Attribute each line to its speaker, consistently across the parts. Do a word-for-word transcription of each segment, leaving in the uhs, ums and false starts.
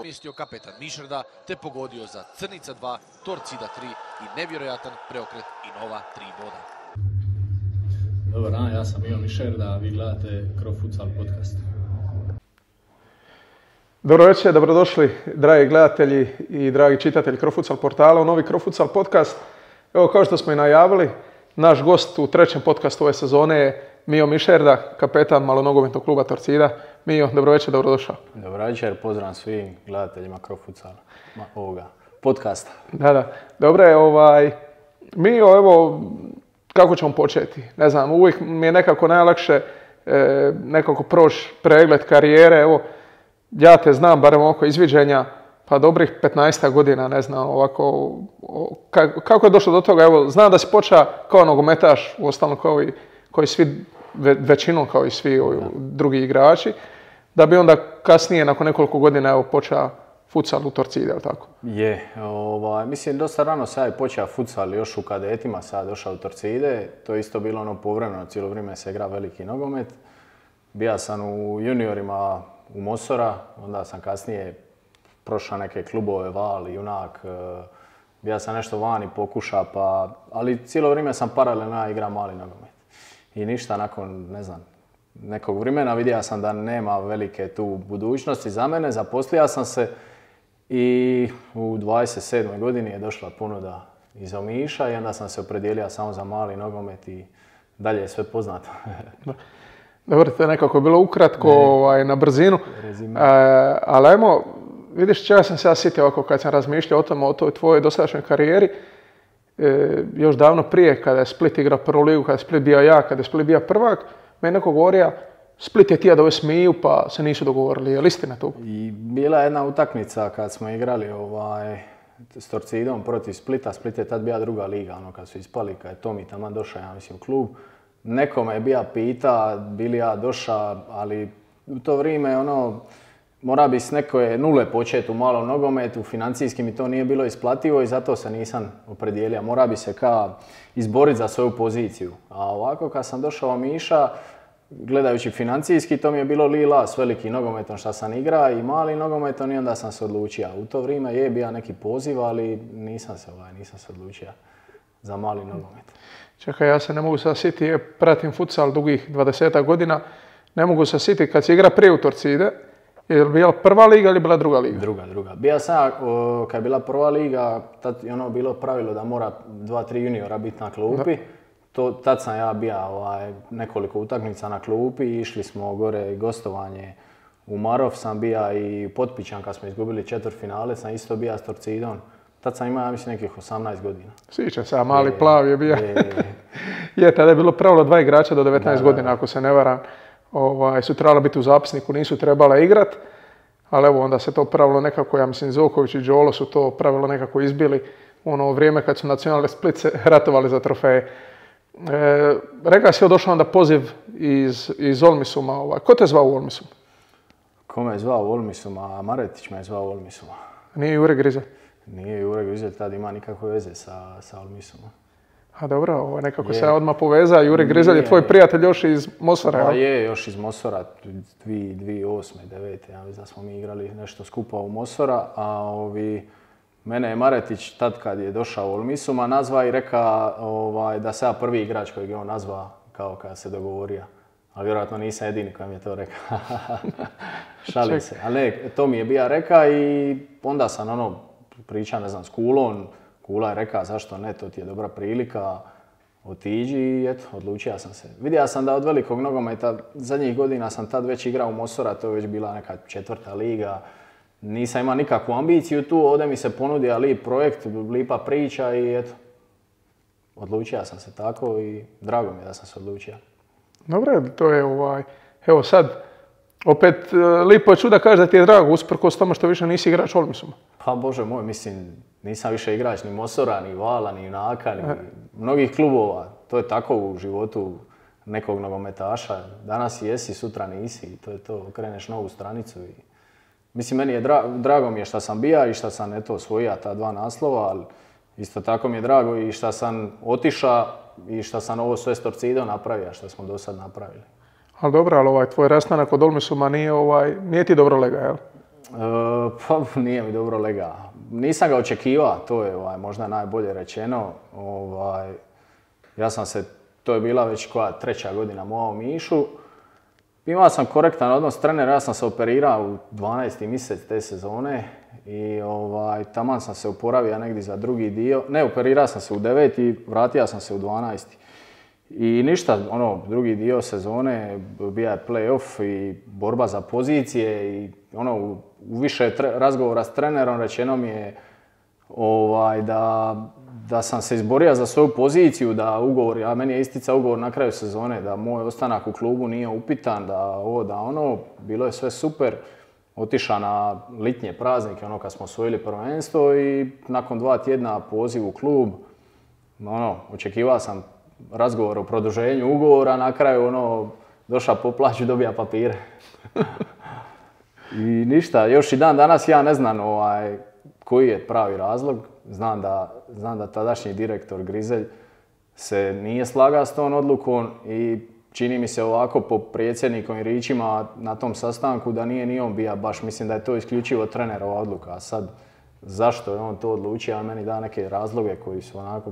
Speaker 1: Mjestio kapetan Mišrda te pogodio za Crnica dva, Torcida tri i nevjerojatan preokret i nova tri boda.
Speaker 2: Dobar dan, ja sam Mijo Mišrda, a vi gledate CroFutsal podcast.
Speaker 3: Dobro večer, dobrodošli dragi gledatelji i dragi čitatelji CroFutsal portala u novi CroFutsal podcast. Evo, kao što smo i najavili, naš gost u trećem podcastu ove sezone je Mijo Mišrda, kapetan malonogometnog kluba Torcida. Mijo, dobro večer, dobrodošao.
Speaker 2: Dobro večer, pozdrav svim gledateljima CroFutsala, ovoga podcasta.
Speaker 3: Da, da. Dobro je, ovaj, Mijo, evo, kako ćemo početi? Ne znam, uvijek mi je nekako najlakše e, nekako proći pregled karijere. Evo, ja te znam, barem oko izviđenja, pa dobrih petnaest godina, ne znam, ovako, o, kako je došlo do toga? Evo, znam da si počeo kao nogometaš, uostalom kao i, kao i svi, ve, većinom kao i svi ovi, drugi igrači, da bi onda kasnije, nakon nekoliko godina, evo, počeo futsal u Torcidi, je li tako?
Speaker 2: Je, ovaj, mislim, dosta rano sam ja počeo futsal, još u kadetima sam došao u Torcide, to je isto bilo ono povremeno, cijelo vrijeme se igra veliki nogomet. Bija sam u juniorima u Mosora, onda sam kasnije prošao neke klubove, Val, Junak, bija sam nešto vani pokuša, pa, ali cijelo vrijeme sam paralelno igrao mali nogomet. I ništa, nakon, ne znam, nekog vremena vidio sam da nema velike tu budućnosti za mene, zaposlio sam se i u dvadeset sedmoj godini je došla ponuda iz Omiša i onda sam se opredijelio samo za mali nogomet i dalje je sve poznato.
Speaker 3: Dobro, to je nekako bilo ukratko, ovaj, na brzinu, e, ali ajmo, vidiš čega sam se ja sjetio ovako kad sam razmišljao o tome, o toj tvojoj dosadašnjoj karijeri, e, još davno prije kada je Split igrao prvu ligu, kada je Split bio ja, kada je Split bio prvak, meni neko govorio Split je tija da ove smiju pa se nisu dogovorili, je li istina to?
Speaker 2: I bila je jedna utakmica kad smo igrali ovaj, s Torcidom protiv Splita, Split je tad bila druga liga, ono kad su ispali, kad je Tomi taman došao, ja mislim, u klub. Nekome je bija pita, bili ja došao, ali u to vrijeme ono, mora bi s neke nule početi u malom nogometu, financijski mi to nije bilo isplativo i zato se nisam opredijelio. Mora bi se ka izboriti za svoju poziciju. A ovako kad sam došao u Miša, gledajući financijski, to mi je bilo lila s velikim nogometom što sam igrao i mali nogometom i onda sam se odlučio. U to vrijeme je bio neki poziv, ali nisam se, ovaj, nisam se odlučio za mali nogomet.
Speaker 3: Čekaj, ja se ne mogu sad sjetiti, ja pratim futsal dugih dvadeset godina, ne mogu se sjetiti kad si igra prije u Torcide, je li bila prva liga ili bila druga liga?
Speaker 2: Druga, druga. Bija sam, kad je bila prva liga, tad je ono bilo pravilo da mora dva, tri juniora biti na klupi. To, tad sam ja bio ovaj, nekoliko utakmica na klupi i išli smo gore gostovanje u Marov, sam bio i Potpićan kad smo izgubili četvrtfinale, sam isto bio s Torcidom. Tad sam imao, ja mislim, nekih osamnaest godina.
Speaker 3: Sjećam se, mali je, plav je bio. Je, je, tada je bilo pravilo dva igrača do devetnaest da, godina, ako se ne varam. Ovaj, su trebala biti u zapisniku, nisu trebala igrat. Ali evo, onda se to pravilo nekako, ja mislim, Zoković i Đolo su to pravilo nekako izbili u ono vrijeme kad su nacionalne Split se ratovali za trofeje. E, rekao si, je došao onda poziv iz, iz Olmisuma. Ovaj. Ko te zvao u Olmisum?
Speaker 2: Ko me je zvao u Olmisum? A Maretić me je zvao u Olmisuma.
Speaker 3: Nije Jure Grizelj?
Speaker 2: Nije Jure Grizelj, tad ima nikakve veze sa, sa Olmisumom.
Speaker 3: A dobro, ovo nekako je. Se odmah povezao. Jure Grizelj je tvoj prijatelj još iz Mosora.
Speaker 2: Pa je, još iz Mosora, dvije tisuće osme, devete Ja mislim da smo mi igrali nešto skupa u Mosora, a ovi, mene je Maretić tad kad je došao u Olmisuma nazva i reka ovaj, da sam ja prvi igrač kojeg je on nazva kao kad se dogovorio. Ali vjerojatno nisam jedini koji mi je to rekao. Šalim se. Ali ne, to mi je bija reka i onda sam ono pričao, ne znam, s Kulom. Kula je rekao zašto ne, to ti je dobra prilika, otiđi i eto, odlučio sam se. Vidio sam da od velikog nogometa, zadnjih godina sam tad već igrao u Mosora, to je već bila neka četvrta liga. Nisam imao nikakvu ambiciju tu, ovdje mi se ponudio lip projekt, lipa priča i eto, odlučio sam se tako i drago mi je da sam se odlučio.
Speaker 3: Dobro, to je ovaj, evo sad, opet lipo je čuda kažeš da ti je drago, usprkos tome što više nisi igrač Olmisuma.
Speaker 2: Pa bože moj, mislim, nisam više igrač ni Mosora, ni Vala, ni Junaka, ni mnogih klubova. To je tako u životu nekog nogometaša. Danas jesi, sutra nisi i to je to, okreneš novu stranicu. I... Mislim, meni je dra drago mi je što sam bija i što sam eto osvojio ta dva naslova, ali isto tako mi je drago i što sam otišao i što sam ovo sve s Torcidom napravio, što smo do sad napravili.
Speaker 3: Ali dobro, ali ovaj tvoj rastanak od Olmisuma nije, ovaj, nije ti dobro lega, jel?
Speaker 2: pa nije mi dobro lega. Nisam ga očekivao, to je ovaj, možda najbolje rečeno. Ovaj, ja sam se, to je bila već koja treća godina moja u Mišu. Imao sam korektan odnos s trenerom, ja sam se operirao u dvanaesti mjesec te sezone i ovaj, taman sam se oporavio negdje za drugi dio. Ne, operirao sam se u deveti, vratio sam se u dvanaesti. I ništa, ono, drugi dio sezone bija je play-off i borba za pozicije i ono, u, u više tre, razgovora s trenerom rečeno mi je ovaj, da, da sam se izborio za svoju poziciju, da ugovor, a meni je isticao ugovor na kraju sezone, da moj ostanak u klubu nije upitan, da ovo, da ono, bilo je sve super. Otišao na litnje praznike, ono kad smo osvojili prvenstvo i nakon dva tjedna poziv u klub, ono, očekivao sam razgovor o produženju ugovora, na kraju ono, došao po plaću, dobija papire. I ništa, još i dan danas ja ne znam ovaj, koji je pravi razlog. Znam da, znam da tadašnji direktor Grizelj se nije slagao s tom odlukom i čini mi se ovako po predsjednikovim ričima na tom sastanku da nije ni on bio baš, mislim da je to isključivo trenerova odluka. A sad, zašto je on to odlučio, a meni da neke razloge koji su onako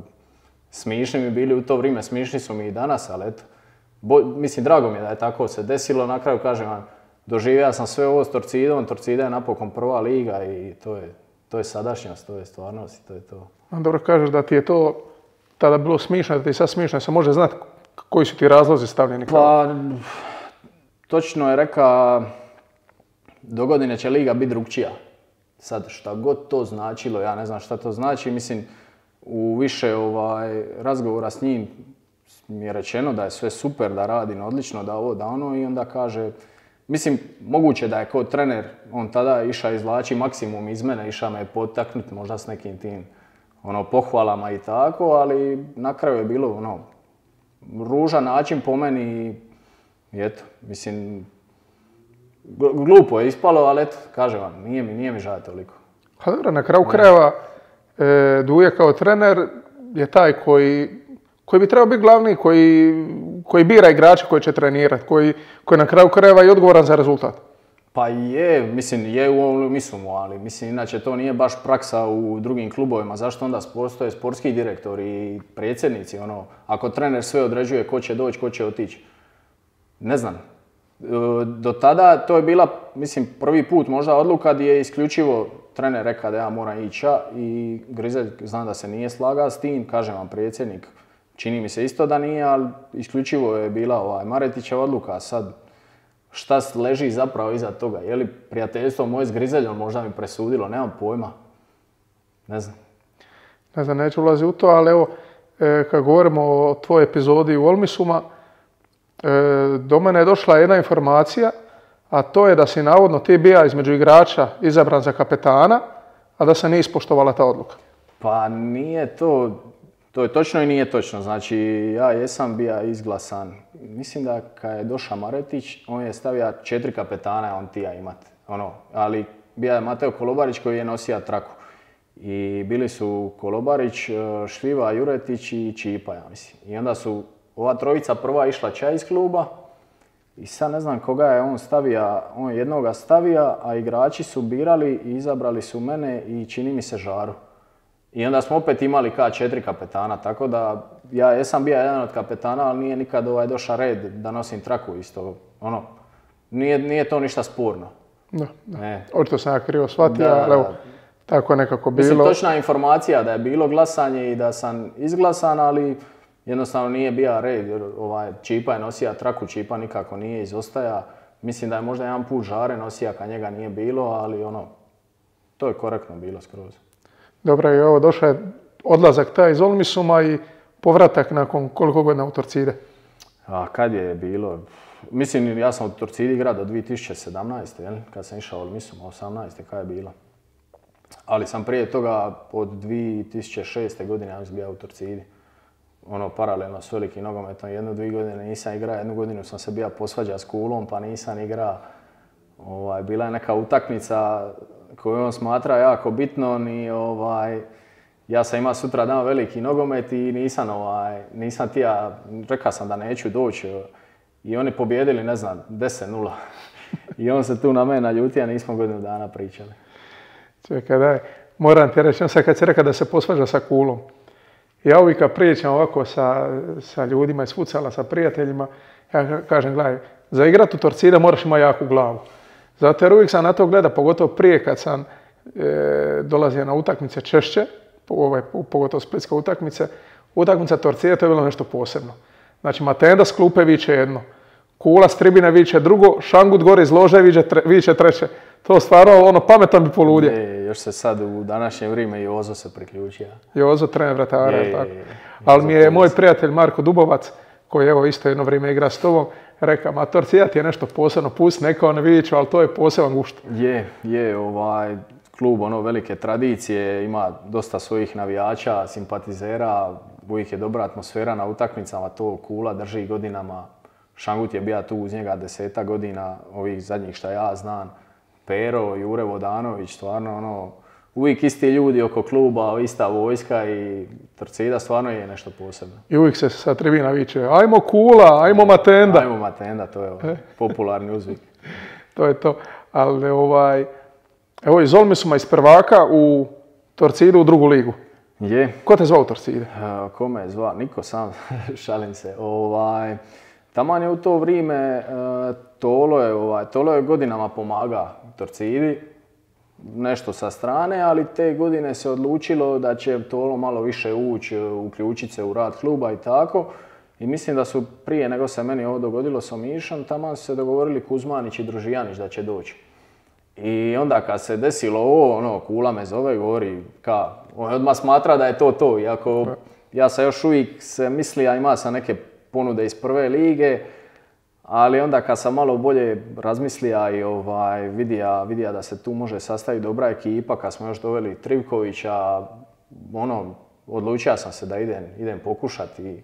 Speaker 2: smišni mi bili u to vrijeme, smišni su mi i danas, ali eto, bo, mislim, drago mi je da je tako se desilo. Na kraju, kažem vam, doživio sam sve ovo s Torcidom, Torcida je napokon prva liga i to je, to je sadašnjost, to je stvarnost i to je to.
Speaker 3: Dobro kažeš da ti je to tada bilo smišno, da ti je sad smišno, se može znati koji su ti razlozi stavljeni?
Speaker 2: Pa, točno je reka, dogodine će liga biti drugčija. Sad, šta god to značilo, ja ne znam šta to znači, mislim, u više ovaj, razgovora s njim mi je rečeno da je sve super, da radim odlično, da ovo, da ono i onda kaže, mislim, moguće da je kao trener, on tada išao izvlači maksimum iz mene, išao me potaknuti možda s nekim tim ono, pohvalama i tako, ali na kraju je bilo ono, ružan način po meni i eto, mislim, glupo je ispalo, ali eto, kažem vam, nije mi, nije mi žao toliko.
Speaker 3: Pa dobro, na kraju krajeva e, Duje kao trener je taj koji, koji bi trebao biti glavni, koji, koji bira igrače koji će trenirati, koji, koji na kraju krajeva i odgovoran za rezultat.
Speaker 2: Pa je, mislim, je u ovom mislumu, ali mislim, inače to nije baš praksa u drugim klubovima. Zašto onda postoje sportski direktori i predsjednici, ono, ako trener sve određuje ko će doći, ko će otići. Ne znam. Do tada to je bila, mislim, prvi put možda odluka gdje je isključivo trener rekao da ja moram ići i Grizelj znam da se nije slagao s tim, kažem vam predsjednik, čini mi se isto da nije, ali isključivo je bila ovaj Maretićeva odluka. Sad, šta leži zapravo iza toga? Je li prijateljstvo moje s Grizeljom možda mi presudilo? Nemam pojma. Ne znam.
Speaker 3: Ne znam, neću ulaziti u to, ali evo, e, kad govorimo o tvojoj epizodi u Olmisuma, e, do mene je došla jedna informacija, a to je da si navodno ti bija između igrača izabran za kapetana, a da se nije ispoštovala ta odluka.
Speaker 2: Pa nije to, to je točno i nije točno. Znači, ja jesam bija izglasan. Mislim da kad je došao Maretić, on je stavio četiri kapetana, on tija imat. Ono, ali bija je Mateo Kolobarić koji je nosio traku. I bili su Kolobarić, Šljiva, Juretić i Čipa, ja mislim. I onda su ova trojica prva išla čaj iz kluba. I sad ne znam koga je on stavio, on jednoga stavio, a igrači su birali i izabrali su mene i čini mi se Žaru. I onda smo opet imali ka četiri kapetana, tako da ja jesam bio jedan od kapetana, ali nije nikad ovaj došao red da nosim traku isto. Ono, nije, nije to ništa sporno.
Speaker 3: Da, da. Očito sam ja krivo shvatio,
Speaker 2: da,
Speaker 3: ali evo, tako je nekako bilo.
Speaker 2: Mislim, točna informacija da je bilo glasanje i da sam izglasan, ali jednostavno nije bio red, jer ovaj, Čipa je nosio traku, Čipa nikako nije izostaja. Mislim da je možda jedan put Žare nosio kad njega nije bilo, ali ono, to je korektno bilo skroz.
Speaker 3: Dobro, i ovo došao je odlazak taj iz Olmisuma i povratak nakon koliko godina u Torcide?
Speaker 2: A kad je bilo? Mislim, ja sam u Torcidi igrao do dvije tisuće sedamnaeste. Jel? Kad sam išao u Olmisum, osamnaeste kad je bilo. Ali sam prije toga od dvije tisuće šeste godine ja sam bio u Torcidi. Ono, paralelno s velikim nogometom, jednu, dvije godine nisam igrao, jednu godinu sam se bio posvađao s Kulom, pa nisam igrao. Ovaj, bila je neka utakmica koju on smatra jako bitnom i ovaj, ja sam imao sutra dan veliki nogomet i nisam, ovaj, nisam tija, rekao sam da neću doći i oni pobjedili, ne znam, deset nula. I on se tu na mene naljutio, a nismo godinu dana pričali.
Speaker 3: Čekaj, daj, moram ti reći, sad kad si rekao da se posvađa sa Kulom. Ja uvijek kad pričam ovako sa, sa ljudima iz futsala, sa prijateljima, ja kažem, gledaj, za igrat u Torcida moraš imati jaku glavu. Zato jer uvijek sam na to gleda, pogotovo prije kad sam e, dolazio na utakmice češće, ovaj, pogotovo splitske utakmice, utakmica Torcida to je bilo nešto posebno. Znači, Matenda s klupe viče jedno, Kula s tribine viče drugo, Šangut gore iz lože viče, tre, viče treće. To stvarno, ono, pametan bi poludio.
Speaker 2: Je, još se sad u današnje vrijeme i Jozo se priključio.
Speaker 3: Jozo, trener vratara, je, tako. Je, ali mi je moj prijatelj Marko Dubovac, koji evo isto jedno vrijeme igra s tobom, rekao, ma Torcida ti je nešto posebno, pusti, neka on viču, ali to je poseban gušt.
Speaker 2: Je, je, ovaj, klub ono velike tradicije, ima dosta svojih navijača, simpatizera, uvijek je dobra atmosfera na utakmicama, to Kula drži godinama. Šangut je bio tu uz njega deseta godina, ovih zadnjih šta ja znam. Pero, Jure Vodanović, stvarno ono, uvijek isti ljudi oko kluba, ista vojska i Torcida stvarno je nešto posebno.
Speaker 3: I uvijek se sa tribina viče, ajmo Kula, ajmo Matenda.
Speaker 2: Ajmo Matenda, to je ovaj, popularni uzvik.
Speaker 3: To je to, ali ovaj, evo iz Olmisuma iz prvaka u Torcidu u drugu ligu.
Speaker 2: Je.
Speaker 3: Ko te zvao u Torcide?
Speaker 2: Uh, ko me je zvao? Niko, sam šalim se. Ovaj, taman je u to vrijeme uh, Tolo je, ovaj, Tolo je godinama pomaga Torcidi, nešto sa strane, ali te godine se odlučilo da će Tolo malo više ući, uključiti se u rad kluba i tako. I mislim da su prije nego se meni ovo dogodilo s Omišom, taman su se dogovorili Kuzmanić i Družijanić da će doći. I onda kad se desilo ovo, ono, Kula me zove i govori ka, on odmah smatra da je to to, iako ja sam još uvijek se misli, a ima sam neke ponude iz prve lige, ali onda kad sam malo bolje razmislija i ovaj, vidija, vidija da se tu može sastaviti dobra ekipa, kad smo još doveli Trivkovića, ono, odlučio sam se da idem, idem pokušati.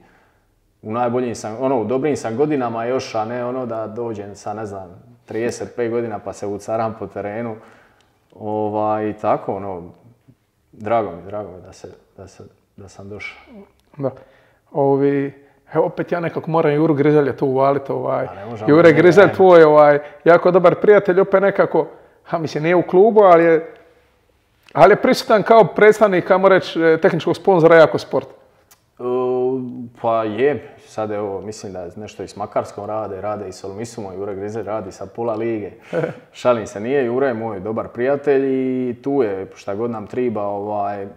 Speaker 2: U najboljim sam, ono, u dobrim sam godinama još, a ne ono da dođem sa, ne znam, trideset pet godina pa se ucaram po terenu. Ovaj, i tako, ono, drago mi, drago mi da, se, da, se, da sam došao.
Speaker 3: Da. Ovi, evo opet ja nekako moram Juru Grizelja tu uvaliti. Ovaj. Jure Grizelj tvoj, ovaj, jako dobar prijatelj, opet nekako, ha, mislim, nije u klubu, ali je, ali je prisutan kao predstavnik, kamo reći, tehničkog sponzora Jako Sport.
Speaker 2: Uh, pa je, sad evo, mislim da nešto i s Makarskom rade, rade i s Olmisumom, Jure Grizelj radi sa pola lige. Šalim se, nije, Jure je moj dobar prijatelj i tu je šta god nam triba, ovaj,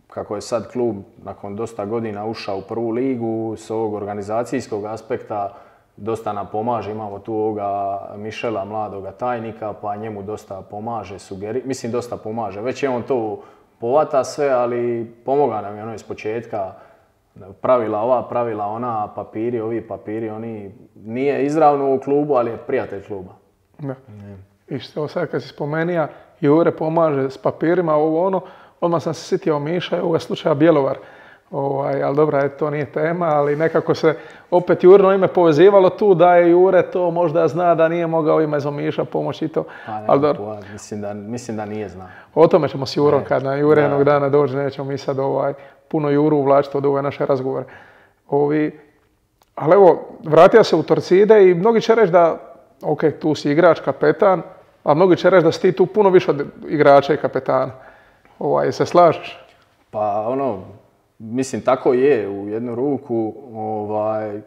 Speaker 2: kako je sad klub nakon dosta godina ušao u prvu ligu, s ovog organizacijskog aspekta dosta nam pomaže, imamo tu ovoga Mišela, mladoga tajnika, pa njemu dosta pomaže, sugeri, mislim dosta pomaže, već je on to povata sve, ali pomoga nam je ono iz početka. Pravila ova, pravila ona, papiri, ovi papiri, oni nije izravno u klubu, ali je prijatelj kluba.
Speaker 3: Da. I što sad kad si spomenija, Jure pomaže s papirima, ovo ono, odmah sam se sjetio Miša, ovoga slučaja Bjelovar. Ovaj, ali dobra, to nije tema, ali nekako se opet Jurino ime povezivalo tu da je Jure to možda zna da nije mogao ima iz Omiša pomoći i to.
Speaker 2: Pa, ali dobro. Mislim da, mislim da nije zna.
Speaker 3: O tome ćemo s Jurom kad na Jure jednog dana dođe, nećemo mi sad ovaj, puno Juru uvlačiti od ove naše razgovore. Ovi, ali evo, vratio se u Torcide i mnogi će reći da, ok, tu si igrač, kapetan, a mnogi će reći da si ti tu puno više od igrača i kapetana. Ovaj, se slažeš?
Speaker 2: Pa ono, mislim, tako je u jednu ruku, ovaj,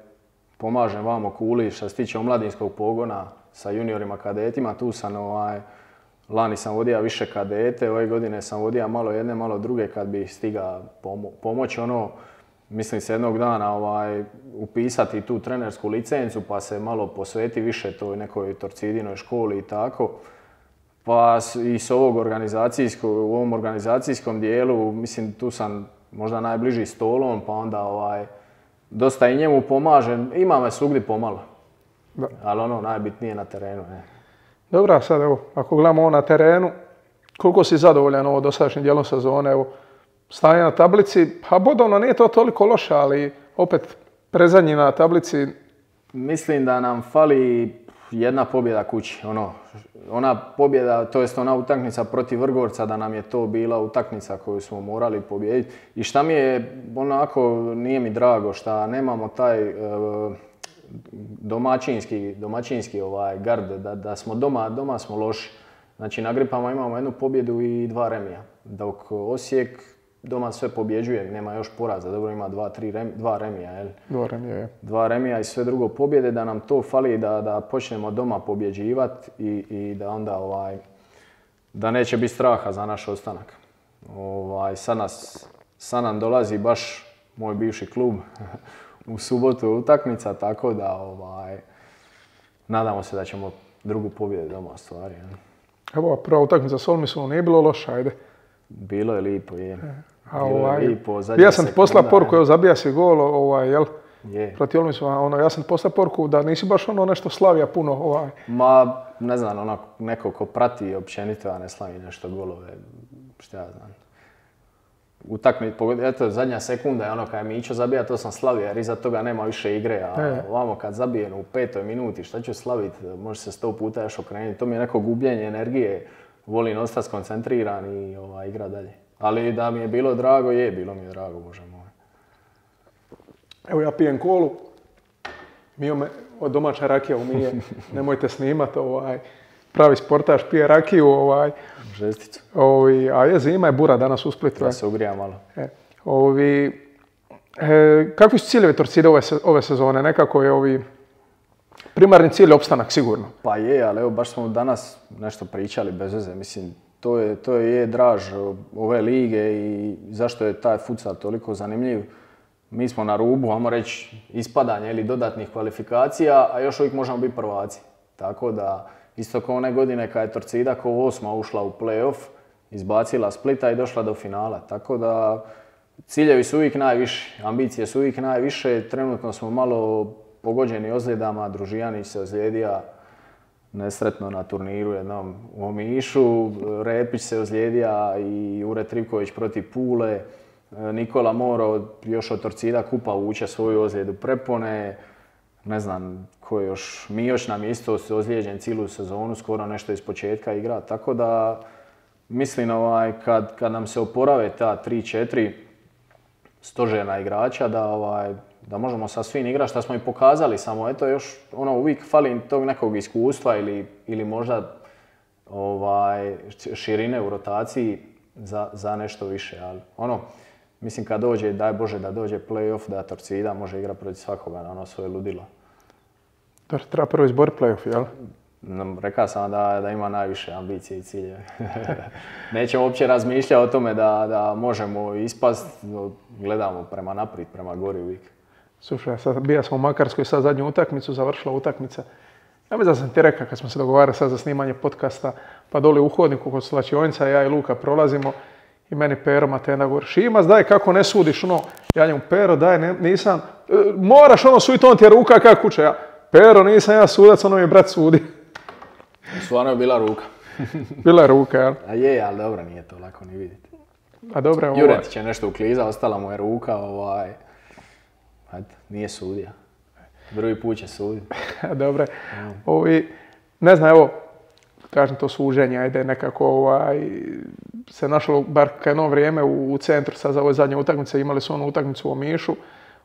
Speaker 2: pomažem vamo Kuli što se tiče omladinskog pogona sa juniorima kadetima, tu sam, ovaj, lani sam vodio više kadete, ove godine sam vodio malo jedne, malo druge kad bi stiga pomo pomoć, ono, mislim se jednog dana ovaj, upisati tu trenersku licencu pa se malo posveti više toj nekoj Torcidinoj školi i tako. Pa i s ovog organizacijskog, u ovom organizacijskom dijelu, mislim, tu sam možda najbliži Stolom, pa onda ovaj, dosta i njemu pomažem. Ima me svugdje pomalo, da. Ali ono najbitnije na terenu. Ne.
Speaker 3: Dobro, sad evo, ako gledamo ovo na terenu, koliko si zadovoljan ovo dosadašnjim dijelom sezone, evo, stanje na tablici, pa bodovno nije to toliko loše, ali opet predzadnji na tablici.
Speaker 2: Mislim da nam fali jedna pobjeda kući, ono, ona pobjeda, to jest ona utakmica protiv Vrgorca, da nam je to bila utakmica koju smo morali pobijediti. I šta mi je, onako, nije mi drago šta nemamo taj, domaćinski, domaćinski ovaj gard, da, da smo doma, doma smo loši. Znači na Gripama imamo jednu pobjedu i dva remija, dok Osijek doma sve pobjeđuje, nema još poraza, dobro ima dva, tri rem, dva remija, jel?
Speaker 3: Dva remija, je.
Speaker 2: Dva remija i sve drugo pobjede, da nam to fali da, da počnemo doma pobjeđivati i, i da onda ovaj, da neće biti straha za naš ostanak. Ovaj, sad, nas, sad nam dolazi baš moj bivši klub u subotu je utakmica, tako da ovaj, nadamo se da ćemo drugu pobjedu doma stvari. Jel?
Speaker 3: Evo, prva utakmica s Olmisom nije bilo loša, ajde.
Speaker 2: Bilo je lipo, je.
Speaker 3: A,
Speaker 2: Bilo
Speaker 3: ovaj,
Speaker 2: je lipo,
Speaker 3: ja sam ti poslao poruku, evo zabija si gol, ovaj, jel?
Speaker 2: Je.
Speaker 3: Protiv Olmisova, ono, ja sam ti poslao poruku da nisi baš ono nešto slavija puno, ovaj.
Speaker 2: Ma, ne znam, ono, neko ko prati općenito, a ne slavi nešto golove, šta ja znam. Utakmica, eto, zadnja sekunda je ono kada je Mićo zabija, to sam slavio jer iza toga nema više igre, a
Speaker 3: e.
Speaker 2: ovamo kad zabijem u petoj minuti, šta ću slaviti, može se sto puta još okrenuti, to mi je neko gubljenje energije, volim ostati skoncentriran i ovaj, igra dalje. Ali da mi je bilo drago, je, bilo mi je drago, bože moj.
Speaker 3: Evo ja pijem kolu, Mio me, od domaća rakija umije, nemojte snimat, ovaj, pravi sportaš pije rakiju, ovaj,
Speaker 2: žesticu.
Speaker 3: Ovi, a je zima je bura danas u Splitu.
Speaker 2: Da se ugrija malo.
Speaker 3: E, ovi, e, kakvi su ciljevi Torcide ove, ove sezone? Nekako je ovi primarni cilj opstanak sigurno.
Speaker 2: Pa je, ali evo baš smo danas nešto pričali bez veze. Mislim, to je, to je draž ove lige i zašto je taj futsal toliko zanimljiv. Mi smo na rubu, ajmo reći, ispadanja ili dodatnih kvalifikacija, a još uvijek možemo biti prvaci. Tako da, isto kao one godine kad je Torcida kao osma ušla u play-off, izbacila Splita i došla do finala. Tako da ciljevi su uvijek najviši, ambicije su uvijek najviše. Trenutno smo malo pogođeni ozljedama, Družijanić se ozlijedija nesretno na turniru jednom u Omišu, Repić se ozlijedija i Ure Trivković protiv Pule. Nikola Moro još od Torcida kupa vuče svoju ozljedu prepone. Ne znam ko je još, Mijoš nam je isto ozlijeđen cijelu sezonu, skoro nešto iz početka igra, tako da mislim ovaj, kad, kad nam se oporave ta tri četiri stožerna igrača da, ovaj, da možemo sa svim igrati šta smo i pokazali, samo eto još ono, uvijek fali tog nekog iskustva ili, ili možda ovaj, širine u rotaciji za, za nešto više, ali ono, mislim kad dođe, daj Bože da dođe play-off, da Torcida može igrati protiv svakoga na ono svoje ludilo.
Speaker 3: Da treba prvo izboriti play-off, jel?
Speaker 2: Rekao sam da, da ima najviše ambicije i ciljeve. Nećemo uopće razmišljati o tome da, da možemo ispast, gledamo prema naprijed, prema gori uvijek.
Speaker 3: Slušaj, sad bija sam u Makarskoj, sad zadnju utakmicu, završila utakmica. Ja mislim da sam ti rekao kad smo se dogovarali sad za snimanje podcasta, pa doli u hodniku kod slačionica, ja i Luka prolazimo i meni Pero Matenda govori, Šimas, daj kako ne sudiš, ono, ja njemu, Pero, daj, ne, nisam, e, moraš ono suditi, on ti je ruka kako kuće, ja, Pero, nisam ja sudac, ono mi brat sudi.
Speaker 2: Stvarno je bila ruka.
Speaker 3: Bila je ruka, jel?
Speaker 2: A je, ali dobro, nije to lako ni vidjeti.
Speaker 3: A dobro, ovaj.
Speaker 2: Juretić je nešto ukliza, ostala mu je ruka, ovaj, ajde, nije sudija. Drugi put će suditi.
Speaker 3: Dobre, ovi, ne znam, evo, kažem to suženje, ajde nekako ovaj, se našlo bar jedno vrijeme u, u centru sad za ove zadnje utakmice, imali su onu utakmicu u Omišu.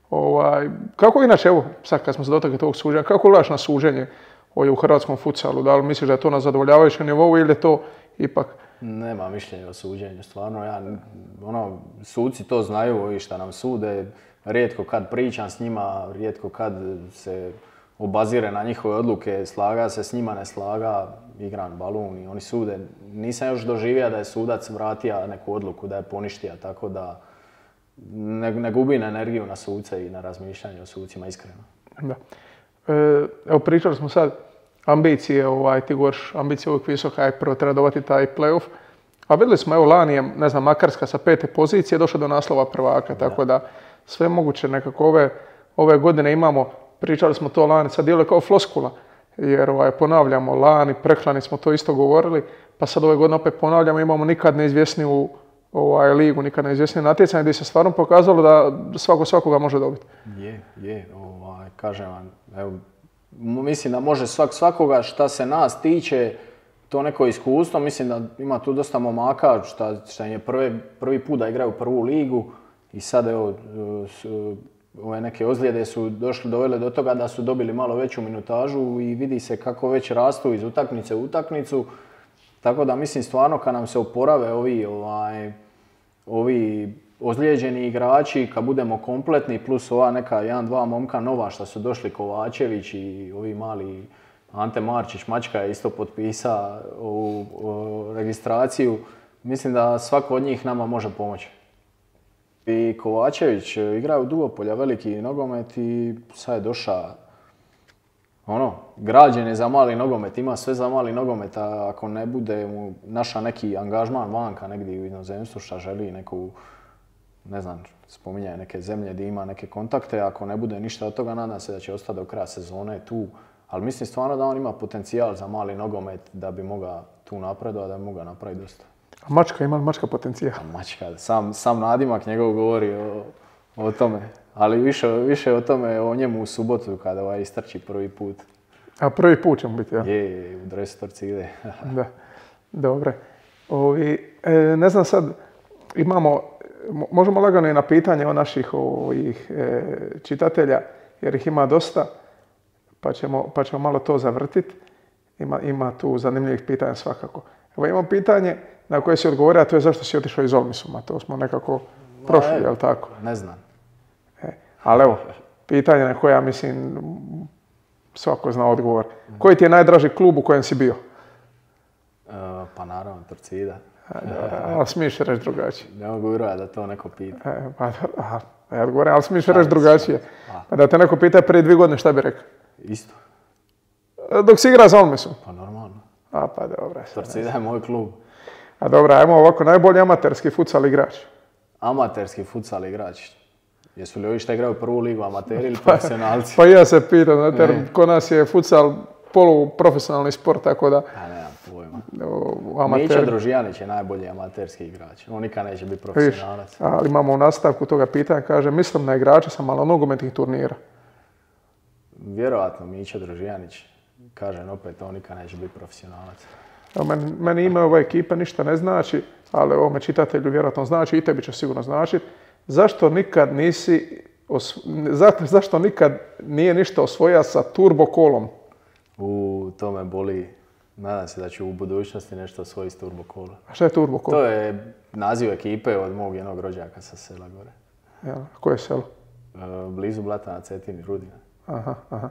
Speaker 3: Ovaj, kako inače, evo, sad kad smo se dotakli tog suženja, kako gledaš na suženje ovdje u hrvatskom futsalu? Da li misliš da je to na zadovoljavajućem nivou ili je to ipak?
Speaker 2: Nema mišljenja o suđenju, stvarno, ja, ono, suci to znaju, ovi šta nam sude, rijetko kad pričam s njima, rijetko kad se obazire na njihove odluke, slaga se s njima, ne slaga, igram balun i oni sude. Nisam još doživio da je sudac vratio neku odluku, da je poništio, tako da ne, ne gubim energiju na suce i na razmišljanje o sucima, iskreno.
Speaker 3: Da. E, evo pričali smo sad, ambicije, ovaj, ti govoriš, ambicije uvijek visoka, je prvo treba dobiti taj play-off. A vidjeli smo, evo lani je, ne znam, Makarska sa pete pozicije došla do naslova prvaka, da. Tako da sve moguće nekako ove, ove godine imamo, pričali smo to lani, sad djeluje kao floskula, jer ovaj, ponavljamo lani, preklani smo to isto govorili, pa sad ove godine opet ponavljamo, imamo nikad neizvjesniju ovaj, ligu, nikad neizvjesnije natjecanje gdje se stvarno pokazalo da svako svakoga može dobiti.
Speaker 2: Je, je, ovaj, kažem vam, evo, mislim da može svak svakoga šta se nas tiče, to neko iskustvo, mislim da ima tu dosta momaka šta, šta im je prvi, prvi put da igraju prvu ligu i sad evo, ove neke ozljede su došli, dovele do toga da su dobili malo veću minutažu i vidi se kako već rastu iz utakmice u utakmicu. Tako da mislim stvarno kad nam se oporave ovi, ovaj, ovi ozlijeđeni igrači, kad budemo kompletni, plus ova neka jedan, dva momka nova što su došli, Kovačević i ovi mali Ante Marčić, Mačka je isto potpisao ovu, ovu registraciju. Mislim da svako od njih nama može pomoći. I Kovačević igra u Dugopolja veliki nogomet i sad je došao, ono, građen je za mali nogomet, ima sve za mali nogomet, a ako ne bude mu naša neki angažman vanka negdje u inozemstvu šta želi neku, ne znam, spominjaju neke zemlje gdje ima neke kontakte, ako ne bude ništa od toga, nadam se da će ostati do kraja sezone tu. Ali mislim stvarno da on ima potencijal za mali nogomet da bi mogao tu napredovati, da bi mogao napraviti dosta.
Speaker 3: A Mačka, ima li Mačka potencijal?
Speaker 2: A Mačka, sam, sam nadimak njegov govori o, o tome. Ali više, više o tome o njemu u subotu kada ovaj istrči prvi put.
Speaker 3: A prvi put ćemo biti, ja?
Speaker 2: Je, je, u dresu Torcide.
Speaker 3: Da, dobre. Ovi, e, ne znam sad, imamo, možemo lagano i na pitanje o naših ovih, e, čitatelja, jer ih ima dosta, pa ćemo, pa ćemo malo to zavrtiti. Ima, ima tu zanimljivih pitanja svakako. Evo imam pitanje na koje si odgovorio, a to je zašto si otišao iz Olmisuma. To smo nekako prošli, je li tako?
Speaker 2: Ne znam.
Speaker 3: E, ali evo, pitanje na koje ja mislim svako zna odgovor. Koji ti je najdraži klub u kojem si bio?
Speaker 2: Uh, pa naravno, Torcida.
Speaker 3: Ali smiješ reći drugačije.
Speaker 2: Ne mogu vjerovati da to neko pita.
Speaker 3: E, pa, aha, ja odgovorim, ali smiješ reći drugačije. Pa da te neko pita prije dvije godine šta bi rekao?
Speaker 2: Isto.
Speaker 3: Dok si igra za Olmisom?
Speaker 2: Pa normalno.
Speaker 3: A pa dobro.
Speaker 2: Torcida je moj klub.
Speaker 3: A dobro, ajmo ovako, najbolji amaterski futsal igrač.
Speaker 2: Amaterski futsal igrač. Jesu li ovi što igraju prvu ligu amateri ili profesionalci?
Speaker 3: Pa ja se pitam, znate, kod nas je futsal poluprofesionalni sport, tako da...
Speaker 2: A nemam pojma.
Speaker 3: Amater...
Speaker 2: Mića Družijanić je najbolji amaterski igrač. On nikad neće biti profesionalac.
Speaker 3: Viš, ali imamo u nastavku toga pitanja, kaže, mislim na igrača sa malo nogometnih turnira.
Speaker 2: Vjerojatno Mića Družijanić. Kažem opet, on nikad neće biti profesionalac.
Speaker 3: Meni, meni ime ova ekipa ništa ne znači, ali ovome čitatelju vjerojatno znači i tebi će sigurno značiti. Zašto nikad nisi, os... Za, zašto nikad nije ništa osvojio sa turbo kolom?
Speaker 2: U to me boli. Nadam se da ću u budućnosti nešto osvojiti s turbo kola.
Speaker 3: A šta je turbo kolo?
Speaker 2: To je naziv ekipe od mog jednog rođaka sa sela gore.
Speaker 3: Ja, koje je selo?
Speaker 2: E, blizu Blata na Cetini, Rudina.
Speaker 3: Aha, aha.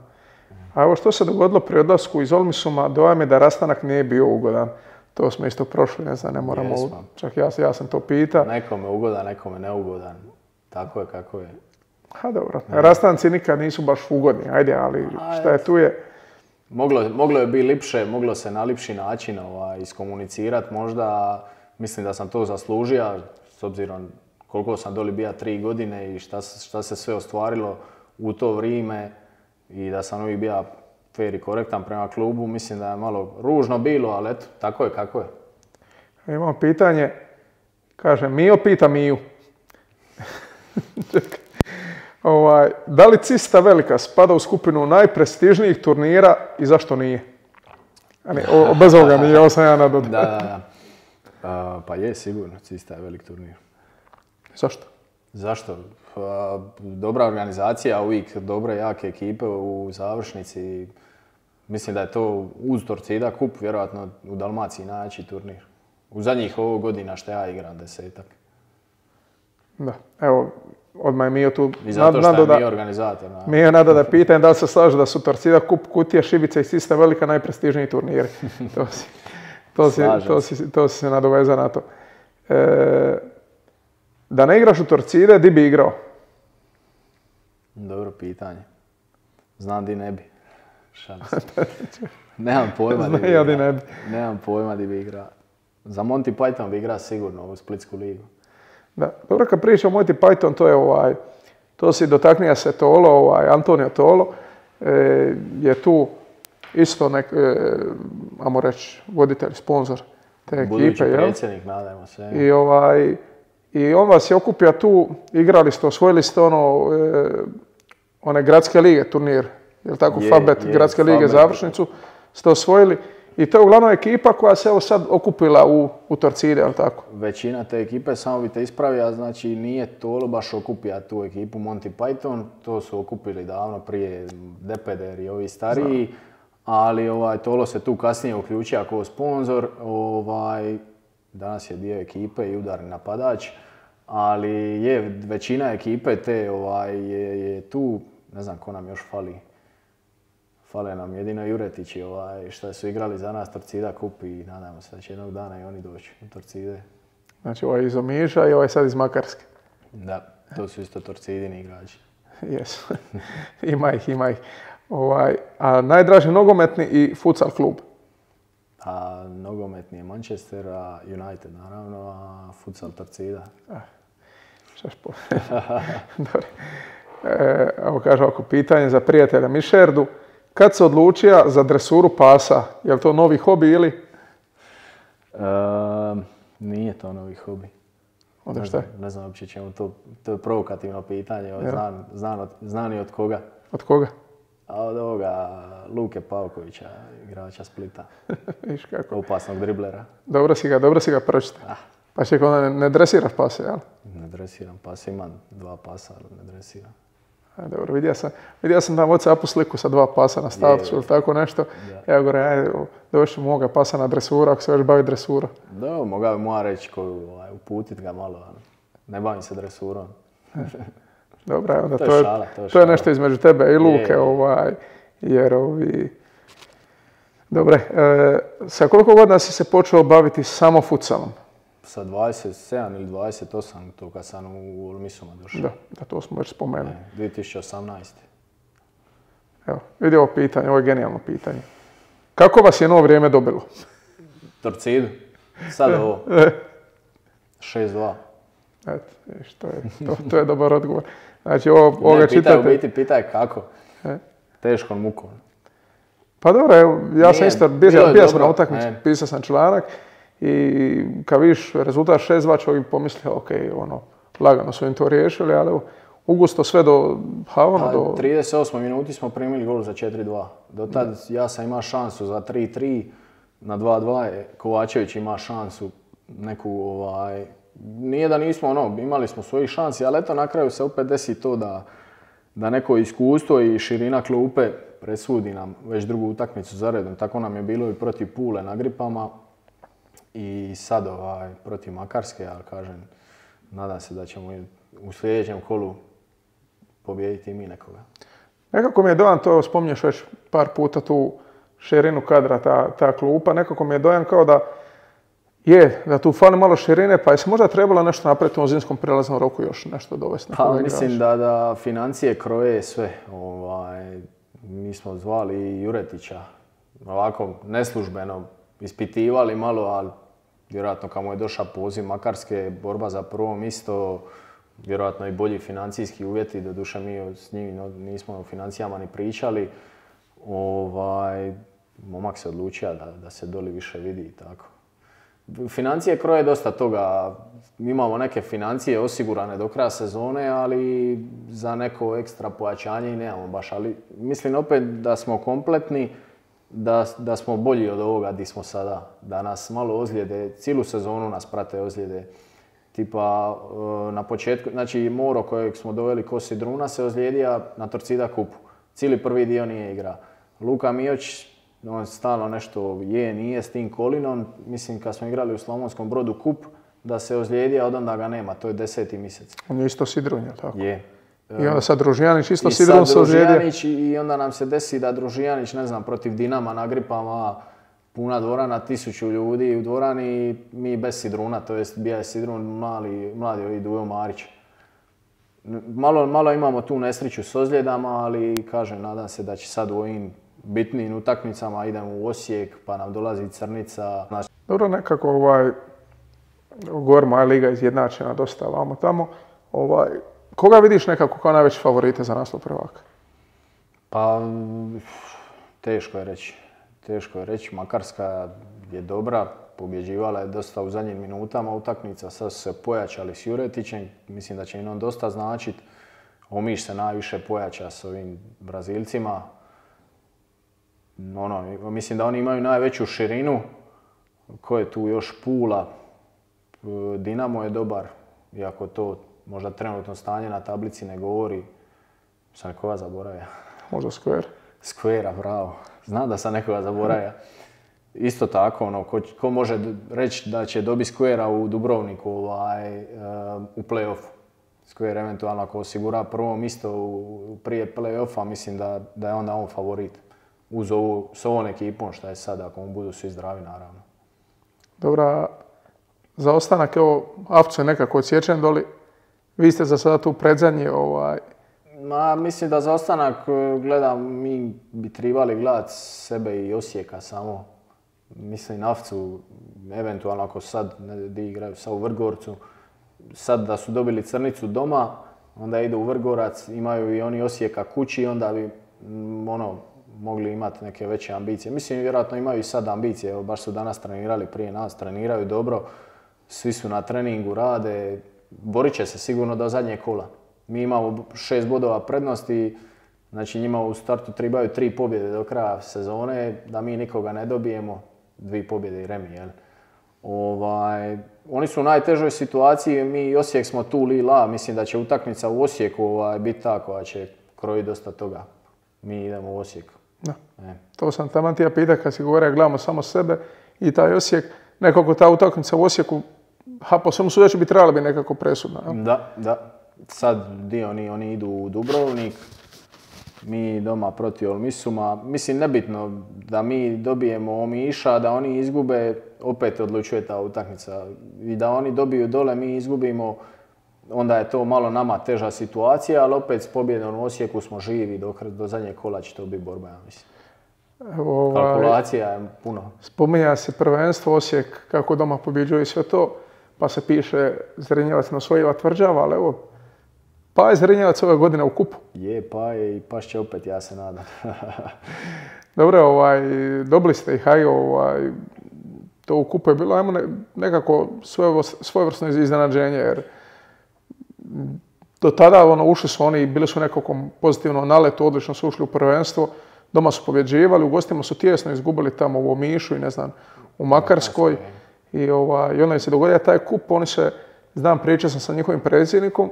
Speaker 3: A evo što se dogodilo pri odlasku iz Olmisuma, dojam je da rastanak nije bio ugodan. To smo isto prošli, ne znam, ne moramo...
Speaker 2: Jesmo.
Speaker 3: Čak ja, ja sam to pitao.
Speaker 2: Nekome ugodan, nekome neugodan. Tako je kako je.
Speaker 3: Ha, dobro. Ne. Rastanci nikad nisu baš ugodni, ajde, ali šta je tu je...
Speaker 2: Moglo, moglo je biti lipše, moglo se na lipši način ovaj, iskomunicirati. Možda mislim da sam to zaslužio, s obzirom koliko sam doli bio tri godine i šta, šta se sve ostvarilo u to vrijeme i da sam uvijek bio fair i korektan prema klubu. Mislim da je malo ružno bilo, ali eto, tako je kako je.
Speaker 3: Imamo pitanje, kaže, Mio pita Miju. Čekaj. Ovaj, da li Cista Velika spada u skupinu najprestižnijih turnira i zašto nije? Ne, o, bez ovoga nije, ovo sam ja nadodao.
Speaker 2: Da, da, da. Uh, pa je, sigurno, Cista je velik turnir.
Speaker 3: Zašto?
Speaker 2: Zašto? Uh, dobra organizacija, uvijek dobre, jake ekipe u završnici. Mislim da je to uz Torcida kup, vjerojatno u Dalmaciji najjači turnir. U zadnjih ovog godina što ja igram, desetak.
Speaker 3: Da, evo, odmah je Mio tu...
Speaker 2: I zato što je Mio organizator. Na...
Speaker 3: Mio nada da pitam da li se slaže da su Torcida, Kup, Kutija, Šibica i Cista Velika najprestižniji turniri. To si, to si, to si, to si se nadovezao na to. E, da ne igraš u Torcide, di bi igrao?
Speaker 2: Dobro pitanje. Znam di ne bi. Šalim se. Nemam pojma di bi igrao.
Speaker 3: Ja ne bi.
Speaker 2: Nemam pojma di bi igrao. Za Monty Python bi igrao sigurno u Splitsku ligu.
Speaker 3: Da, dobro, kad pričam o Monty Python, to je ovaj, to si dotaknija se Tolo, ovaj, Antonio Tolo, e, je tu isto nek, e, ajmo reći, voditelj, sponzor te ekipe.
Speaker 2: Budući predsjednik, nadajmo se.
Speaker 3: I, ovaj, I on vas je okupio tu, igrali ste, osvojili ste ono, e, one gradske lige turnir, je li tako,
Speaker 2: je,
Speaker 3: Fabet,
Speaker 2: je,
Speaker 3: gradske lige,
Speaker 2: Fabet.
Speaker 3: Završnicu, ste osvojili I to je uglavnom ekipa koja se evo sad okupila u, u Torcide, jel tako?
Speaker 2: Većina te ekipe, samo bi te ispravio, znači nije Tolo baš okupija tu ekipu Monty Python, to su okupili davno prije Depeder i ovi stariji, Znam. ali ovaj, Tolo se tu kasnije uključio kao sponzor, ovaj, danas je dio ekipe i udarni napadač, ali je većina ekipe te ovaj, je, je tu, ne znam ko nam još fali. Fale nam jedino Juretići ovaj, što su igrali za nas Torcida kup i nadamo se da će jednog dana i oni doći u Torcide.
Speaker 3: Znači ovaj iz Omiša i ovaj sad iz Makarske.
Speaker 2: Da, to su isto Torcidini igrači.
Speaker 3: Jesu, ima ih, ima ih. Ovaj, a najdraži nogometni i futsal klub?
Speaker 2: A nogometni je Manchester, a United naravno, a futsal Torcida.
Speaker 3: Ah, šaš po... Dobro. E, evo kaže ovako, pitanje za prijatelja Mišerdu. Kad se odlučio za dresuru pasa? Je li to novi hobi ili?
Speaker 2: E, nije to novi hobi.
Speaker 3: Onda šta je?
Speaker 2: Ne znam uopće čemu to, to je provokativno pitanje, ja. znam, znam, od, znam i od koga.
Speaker 3: Od koga?
Speaker 2: A od ovoga Luke Pavkovića, igrača Splita.
Speaker 3: Viš kako.
Speaker 2: Opasnog driblera.
Speaker 3: Dobro si ga, dobro si ga pročitao.
Speaker 2: Ah.
Speaker 3: Pa ček, onda ne, ne dresiraš pase, jel?
Speaker 2: Ne dresiram pase, imam dva pasa, ali ne dresiram.
Speaker 3: A, dobro, vidio sam, vidio sam tamo WhatsAppu sliku sa dva pasa na statusu ili tako nešto. Da. Ja govorim, ajde, došli moga pasa na dresuru, ako se još bavi dresurom.
Speaker 2: Da, mogao bi moja reći koju, ovaj, uputit ga malo, ali ne bavim se dresurom.
Speaker 3: Dobro, onda
Speaker 2: to,
Speaker 3: to,
Speaker 2: je,
Speaker 3: je,
Speaker 2: šala, to, je,
Speaker 3: to je nešto između tebe i Luke,
Speaker 2: je.
Speaker 3: ovaj, jer ovi... Dobre, e, sa koliko godina si se počeo baviti samo futsalom?
Speaker 2: Sa dvadeset sedam ili dvadeset osam, to kad sam u Olmisuma došao.
Speaker 3: Da, da, to smo već spomenuli.
Speaker 2: Ne, dvije tisuće osamnaeste.
Speaker 3: Evo, vidi ovo pitanje, ovo je genijalno pitanje. Kako vas je novo vrijeme dobilo?
Speaker 2: Torcidu. Sad ovo. šest dva.
Speaker 3: Eto, viš, to je, to, to je dobar odgovor. Znači, ovo, ovoga
Speaker 2: ne, pitaj,
Speaker 3: čitate...
Speaker 2: u biti, pitaj kako.
Speaker 3: E?
Speaker 2: Teškom mukom.
Speaker 3: Pa dobro, evo, ja
Speaker 2: Nije,
Speaker 3: sam isto, bio, bio sam na utakmici,
Speaker 2: ne.
Speaker 3: pisao sam članak i kad vidiš rezultat šest dva čovjek pomislio, ok, ono, lagano su im to riješili, ali evo, ugusto sve do, ha, ono,
Speaker 2: pa,
Speaker 3: do...
Speaker 2: trideset osmoj minuti smo primili gol za četiri dva. Do tad ja sam imao šansu za tri tri, na dva dva je Kovačević ima šansu neku, ovaj, nije da nismo, ono, imali smo svojih šansi, ali eto na kraju se opet desi to da, da neko iskustvo i širina klupe presudi nam već drugu utakmicu za redom. Tako nam je bilo i protiv Pule na Gripama i sad ovaj, protiv Makarske, ali kažem, nadam se da ćemo u sljedećem kolu pobijediti i mi nekoga.
Speaker 3: Nekako mi je dojam, to spominješ već par puta tu širinu kadra, ta, ta klupa, nekako mi je dojam kao da je, da tu fali malo širine, pa je se možda trebalo nešto napraviti u zimskom prijelaznom roku još nešto dovesti.
Speaker 2: Pa mislim da, da financije kroje sve. Ovaj, mi smo zvali i Juretića, ovako neslužbeno ispitivali malo, ali vjerojatno kad mu je došao poziv Makarske, borba za prvo mjesto, vjerojatno i bolji financijski uvjeti, doduše mi s njim nismo o financijama ni pričali. Ovaj, momak se odlučio da, da se doli više vidi i tako. Financije kroje dosta toga, imamo neke financije osigurane do kraja sezone, ali za neko ekstra pojačanje i nemamo baš. Ali mislim opet da smo kompletni, da, da smo bolji od ovoga gdje smo sada. Da nas malo ozljede, cijelu sezonu nas prate ozljede. Tipa na početku, znači Moro kojeg smo doveli ko Sidruna se ozlijedio na Torcida kupu. Cijeli prvi dio nije igra. Luka Mijoć, on stalno nešto je, nije s tim kolinom. Mislim, kad smo igrali u Slavonskom Brodu kup, da se ozlijedio, od onda ga nema. To je deseti mjesec.
Speaker 3: On je isto Sidrun, je tako?
Speaker 2: Je.
Speaker 3: I onda sad Družijanić isto Sidrun se ozlijedio.
Speaker 2: I onda nam se desi da Družijanić, ne znam, protiv Dinama na Gripama, puna dvorana, tisuću ljudi u dvorani, mi bez Sidruna, to jest bija je Sidrun mali, mladi ovi Dujo Marić. Malo, malo imamo tu nesreću s ozljedama, ali kažem, nadam se da će sad u ovim bitnim utakmicama idemo u Osijek, pa nam dolazi Crnica. Znači...
Speaker 3: Dobro, nekako ovaj, govor moja liga izjednačena dosta vamo tamo. Ovaj, koga vidiš nekako kao najveći favorite za naslov prvaka?
Speaker 2: Pa, teško je reći. Teško je reći, Makarska je dobra, pobjeđivala je dosta u zadnjim minutama utakmica, sad su se pojačali s Juretićem, mislim da će im on dosta značiti. Omiš se najviše pojača s ovim Brazilcima. ono, mislim da oni imaju najveću širinu. Ko je tu još? Pula. Dinamo je dobar, iako to možda trenutno stanje na tablici ne govori. Sam nekoga zaboravio.
Speaker 3: Možda Square.
Speaker 2: Square, bravo. Znam da sam nekoga zaboravio. Isto tako, ono, ko, ko može reći da će dobiti Square u Dubrovniku ovaj, u play-offu. Square eventualno ako osigura prvo mjesto u, prije play-offa, mislim da, da je onda on favorit. Uz ovu, s ovom ekipom šta je sad, ako mu budu svi zdravi, naravno.
Speaker 3: Dobra, za ostanak, evo, Avcu je nekako odsječen doli. Vi ste za sada tu predzadnji, ovaj...
Speaker 2: Ma, mislim da za ostanak, gledam, mi bi trebali gledati sebe i Osijeka samo. Mislim, Avcu, eventualno ako sad ne igraju sad u Vrgorcu, sad da su dobili Crnicu doma, onda idu u Vrgorac, imaju i oni Osijeka kući, onda bi ono, mogli imati neke veće ambicije. Mislim, vjerojatno imaju i sad ambicije, evo, baš su danas trenirali prije nas, treniraju dobro, svi su na treningu, rade, borit će se sigurno do zadnjeg kola. Mi imamo šest bodova prednosti, znači njima u startu trebaju tri pobjede do kraja sezone, da mi nikoga ne dobijemo, dvije pobjede i remi, jel? Ovaj, oni su u najtežoj situaciji, mi i Osijek smo tu li la, mislim da će utakmica u Osijeku ovaj, biti ta koja će krojiti dosta toga. Mi idemo u Osijek.
Speaker 3: Da. E. To sam taman ti ja pitao kad si govorio, gledamo samo sebe i taj Osijek, nekako ta utakmica u Osijeku, ha, po svemu sudeći bi trebala biti nekako presudna. Ja?
Speaker 2: Da, da. Sad dio oni, oni idu u Dubrovnik, mi doma protiv Olmisuma. Mislim, nebitno da mi dobijemo Omiša, da oni izgube, opet odlučuje ta utakmica. I da oni dobiju dole, mi izgubimo, onda je to malo nama teža situacija, ali opet s pobjedom u Osijeku smo živi, do, do zadnjeg kola će to biti borba, ja mislim. Ovaj, kalkulacija je puno.
Speaker 3: Spominja se prvenstvo, Osijek kako doma pobjeđuje i sve to, pa se piše Zrenjavac osvojila tvrđava, ali evo, pa je Zrenjavac ove godine u kupu.
Speaker 2: Je, pa je i paš će opet, ja se nadam.
Speaker 3: Dobro, ovaj, dobili ste ih, aj, ovaj, to u kupu je bilo, ajmo ne, nekako svojevrsno iznenađenje, jer do tada ono, ušli su oni, bili su nekako pozitivno naletu, odlično su ušli u prvenstvo, doma su pobjeđivali, u gostima su tjesno izgubili tamo u Omišu i ne znam, u Makarskoj. I, ovaj, i onda je se dogodio taj kup, oni se, znam, pričao sam sa njihovim predsjednikom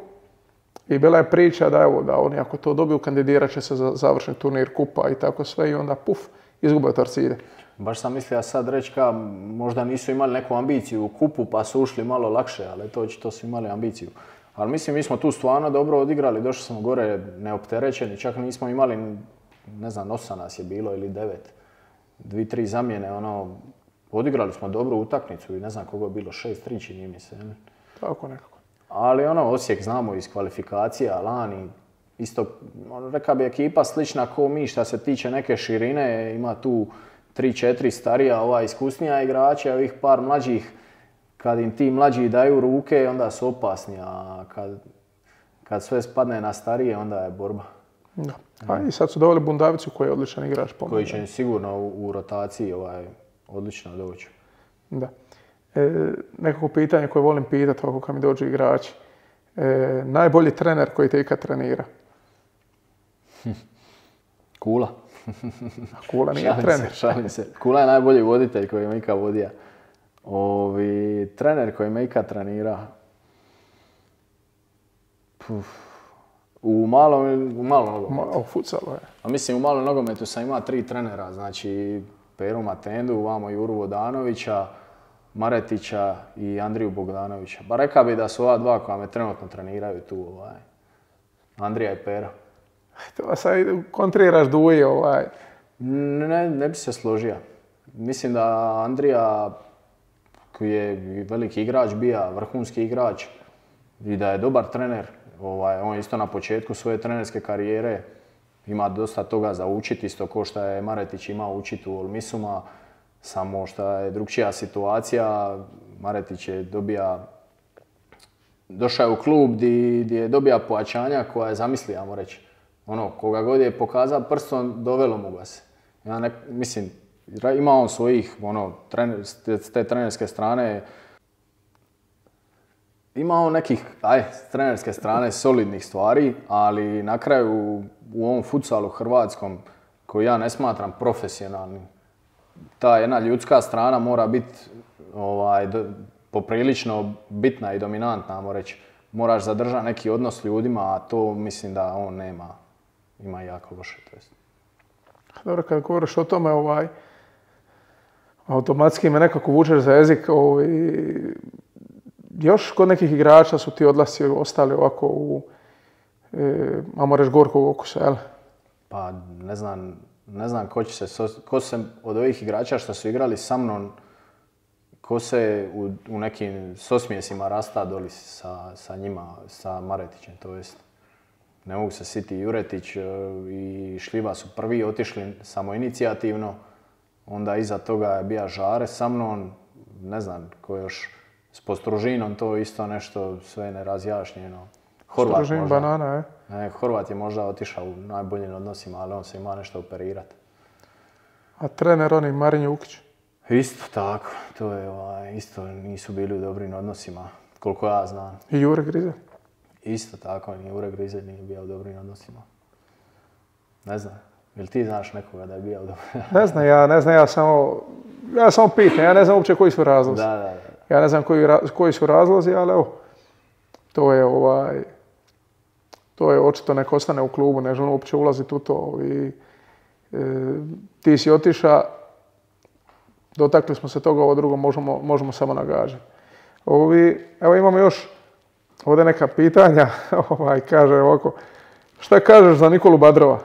Speaker 3: i bila je priča da, evo, da oni ako to dobiju kandidirat će se za završni turnir kupa i tako sve i onda puf, izgube Torcide.
Speaker 2: Baš sam mislio sad reći ka možda nisu imali neku ambiciju u kupu pa su ušli malo lakše, ali to očito su imali ambiciju. Ali mislim, mi smo tu stvarno dobro odigrali, došli smo gore neopterećeni, čak nismo imali, ne znam, osam nas je bilo ili devet. Dvi, tri zamjene, ono, odigrali smo dobru utakmicu i ne znam koga je bilo, šest tri čini mi se. Ne?
Speaker 3: Tako nekako.
Speaker 2: Ali ono, Osijek znamo iz kvalifikacija, lani, isto, ono, reka bi ekipa slična ko mi šta se tiče neke širine, ima tu tri četiri starija, ova iskusnija igrača, ovih par mlađih, kad im ti mlađi daju ruke, onda su opasni, a kad, kad sve spadne na starije, onda je borba.
Speaker 3: Da. A i sad su doveli Bundavicu koji je odličan igrač.
Speaker 2: Koji će sigurno u, u rotaciji ovaj, odlično doći.
Speaker 3: Da. E, nekako pitanje koje volim pitati ovako kad mi dođu igrači. E, najbolji trener koji te ikad trenira?
Speaker 2: Kula.
Speaker 3: Kula nije
Speaker 2: šalim
Speaker 3: trener.
Speaker 2: Se, šalim se. Kula je najbolji voditelj koji me ikad vodio. Ovi, trener koji me ikad trenira. Puf. U malom, u malom nogometu.
Speaker 3: U futsalu je.
Speaker 2: A mislim, u malom nogometu sam imao tri trenera, znači Peru Matendu, vamo Juru Vodanovića, Maretića i Andriju Bogdanovića. Ba rekao bi da su ova dva koja me trenutno treniraju tu, ovaj, Andrija i Pero.
Speaker 3: To sad kontriraš Duji, ovaj.
Speaker 2: Ne, ne bi se složio. Mislim da Andrija, koji je veliki igrač, bija vrhunski igrač i da je dobar trener. Ovaj, on je isto na početku svoje trenerske karijere, ima dosta toga za učiti, isto ko što je Maretić imao učiti u Olmisuma, samo što je drugčija situacija. Maretić je dobija, došao je u klub gdje je dobija pojačanja koja je zamislio, ajmo reći. Ono, koga god je pokazao prstom, dovelo mu ga se. Ja ne, mislim, ima on svojih, ono, trener, s te trenerske strane, ima on nekih, aj, s trenerske strane solidnih stvari, ali na kraju u ovom futsalu hrvatskom koji ja ne smatram profesionalnim. Ta jedna ljudska strana mora biti ovaj, poprilično bitna i dominantna, ajmo reći. Moraš zadržati neki odnos s ljudima, a to mislim da on nema. Ima jako loše. To jest.
Speaker 3: Dobro, kad govoriš o tome, ovaj, automatski me nekako vučeš za jezik. Ovaj, još kod nekih igrača su ti odlasci ostali ovako u, e, ajmo reći, gorkog okusa, jel?
Speaker 2: Pa ne znam, ne znam ko će se, ko se od ovih igrača što su igrali sa mnom, ko se u, u nekim sosmijesima rasta doli sa, sa njima, sa Maretićem, to jest. Ne mogu se sjetiti, Juretić i Šljiva su prvi otišli samoinicijativno, onda iza toga je bio Žare sa mnom, ne znam ko još, s Postružinom to isto nešto sve nerazjašnjeno. Horvat možda.
Speaker 3: Banana, je?
Speaker 2: Ne, Horvat je možda otišao u najboljim odnosima, ali on se ima nešto operirati.
Speaker 3: A trener oni Marin Jukić?
Speaker 2: Isto tako, to je ovaj, isto nisu bili u dobrim odnosima, koliko ja znam.
Speaker 3: I Jure Grizelj?
Speaker 2: Isto tako, ni Jure Grizelj nije bio u dobrim odnosima. Ne znam, jel ti znaš nekoga da je bio u dobrim?
Speaker 3: Ne znam, ja ne znam, ja samo, ja samo pitam, ja ne znam uopće koji su razlozi.
Speaker 2: Da, da, da.
Speaker 3: Ja ne znam koji, koji su razlozi, ali evo, to je ovaj, to je očito neko ostane u klubu, ne želim uopće ulaziti u to i e, ti si otiša, dotakli smo se toga, ovo drugo možemo, možemo samo nagađati. Ovi, evo imamo još ovdje neka pitanja, ovaj, kaže ovako, šta kažeš za Nikolu Badrova?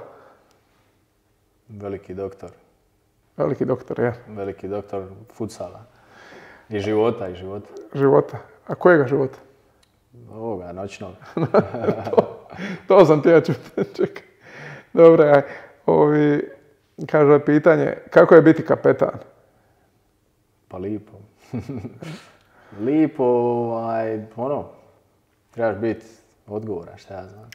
Speaker 2: Veliki doktor.
Speaker 3: Veliki doktor, je.
Speaker 2: Veliki doktor futsala. I života, i života.
Speaker 3: Života. A kojega života?
Speaker 2: Ovoga, noćnog.
Speaker 3: to, to sam ti ja čuti. Čekaj. Dobre, aj. Ovi, kaže pitanje, kako je biti kapetan?
Speaker 2: Pa lipo. Lipo, ovaj, ono, trebaš biti odgovoran, šta ja znam.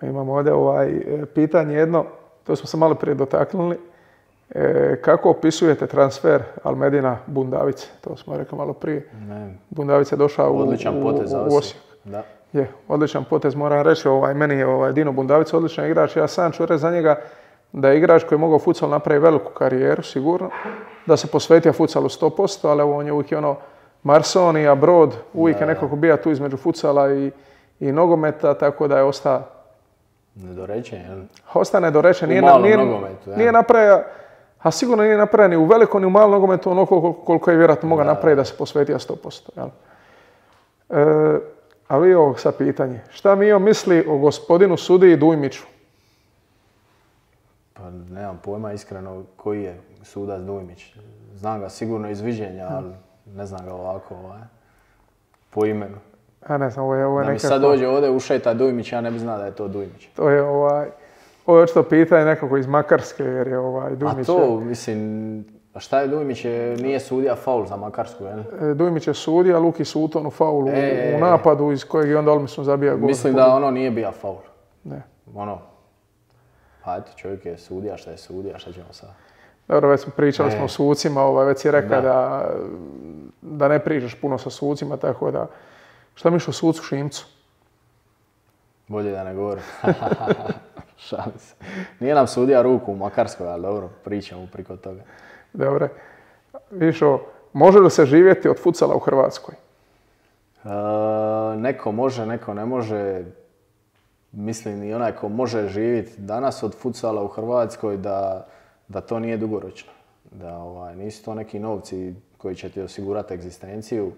Speaker 3: Imamo ovdje ovaj, pitanje jedno, to smo se malo prije dotaknuli. E, kako opisujete transfer Almedina Bundavice? To smo rekli malo prije.
Speaker 2: Ne.
Speaker 3: Bundavice je došao u,
Speaker 2: odličan potez
Speaker 3: u, u Osijek.
Speaker 2: Da.
Speaker 3: Je, odličan potez, moram reći, ovaj, meni je ovaj, Dino Bundavica odličan igrač. Ja sam ću reći za njega da je igrač koji je mogao futsal napraviti veliku karijeru, sigurno. Da se posvetio futsalu sto posto, ali on je uvijek ono Marsonija, Brod, uvijek da. je nekako bio tu između futsala i, i nogometa, tako da je ostao
Speaker 2: nedorečen, jel?
Speaker 3: Ostao nedorečen.
Speaker 2: U malom nije, nogometu, ja.
Speaker 3: Nije napravio, a sigurno nije napravio ni u velikom ni u malom nogometu ono koliko, koliko je vjerojatno mogao napraviti da se posvetio sto posto. Jel? E, a vi ovo sad pitanje. Šta Mio misli o gospodinu sudiji Dujmiću?
Speaker 2: Pa nemam pojma iskreno koji je sudac Dujmić. Znam ga sigurno iz viđenja, ali ne znam ga ovako ovaj, po imenu.
Speaker 3: Ja ne znam, ovo je, ovo je
Speaker 2: da mi
Speaker 3: nekako...
Speaker 2: sad dođe ovdje ušeta Dujmić, ja ne bi znao da je to Dujmić.
Speaker 3: To je ovaj... Ovo je očito pitanje nekako iz Makarske, jer je ovaj Dujmić...
Speaker 2: A to, mislim, a šta je Dujmić? Je, nije sudija faul za Makarsku, jel?
Speaker 3: Dujmić je sudija, Luki Suton u faulu e, u napadu iz kojeg je onda Olmison zabija gol.
Speaker 2: Mislim da ono nije bio faul.
Speaker 3: Ne.
Speaker 2: Ono, pa eto, čovjek je sudija, šta je sudija, šta ćemo sad?
Speaker 3: Dobro, već smo pričali e. smo o sucima, ovaj, već si rekao da. Da, da ne pričaš puno sa sucima, tako da... Šta misliš o sucu Šimcu?
Speaker 2: Bolje da ne govorim. Šalim se. Nije nam sudija ruku u Makarskoj, ali dobro, pričamo priko toga.
Speaker 3: Dobre. Višo, može li se živjeti od futsala u Hrvatskoj?
Speaker 2: E, neko može, neko ne može. Mislim i onaj ko može živjeti danas od futsala u Hrvatskoj da, da to nije dugoročno. Da ovaj, nisu to neki novci koji će ti osigurati egzistenciju.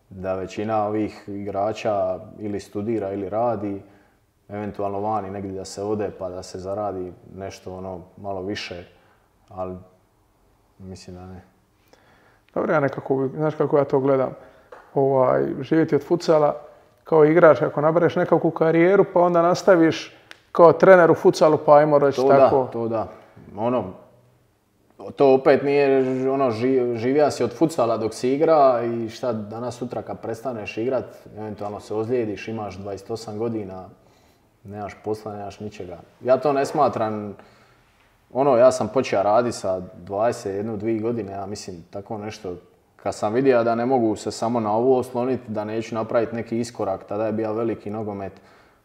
Speaker 2: Da većina ovih igrača ili studira ili radi, eventualno vani negdje da se ode pa da se zaradi nešto ono malo više, ali mislim da ne.
Speaker 3: Dobro, ja nekako, znaš kako ja to gledam, ovaj, živjeti od futsala kao igrač, ako nabereš nekakvu karijeru pa onda nastaviš kao trener u futsalu pa ajmo reći tako.
Speaker 2: To da, to da. Ono, to opet nije ono, živija si od futsala dok si igra i šta danas sutra kad prestaneš igrat, eventualno se ozlijediš, imaš dvadeset osam godina, nemaš posla, nemaš ničega. Ja to ne smatram, ono, ja sam počeo raditi sa dvadeset jedna dvije godine, ja mislim tako nešto. Kad sam vidio da ne mogu se samo na ovo osloniti, da neću napraviti neki iskorak, tada je bio veliki nogomet,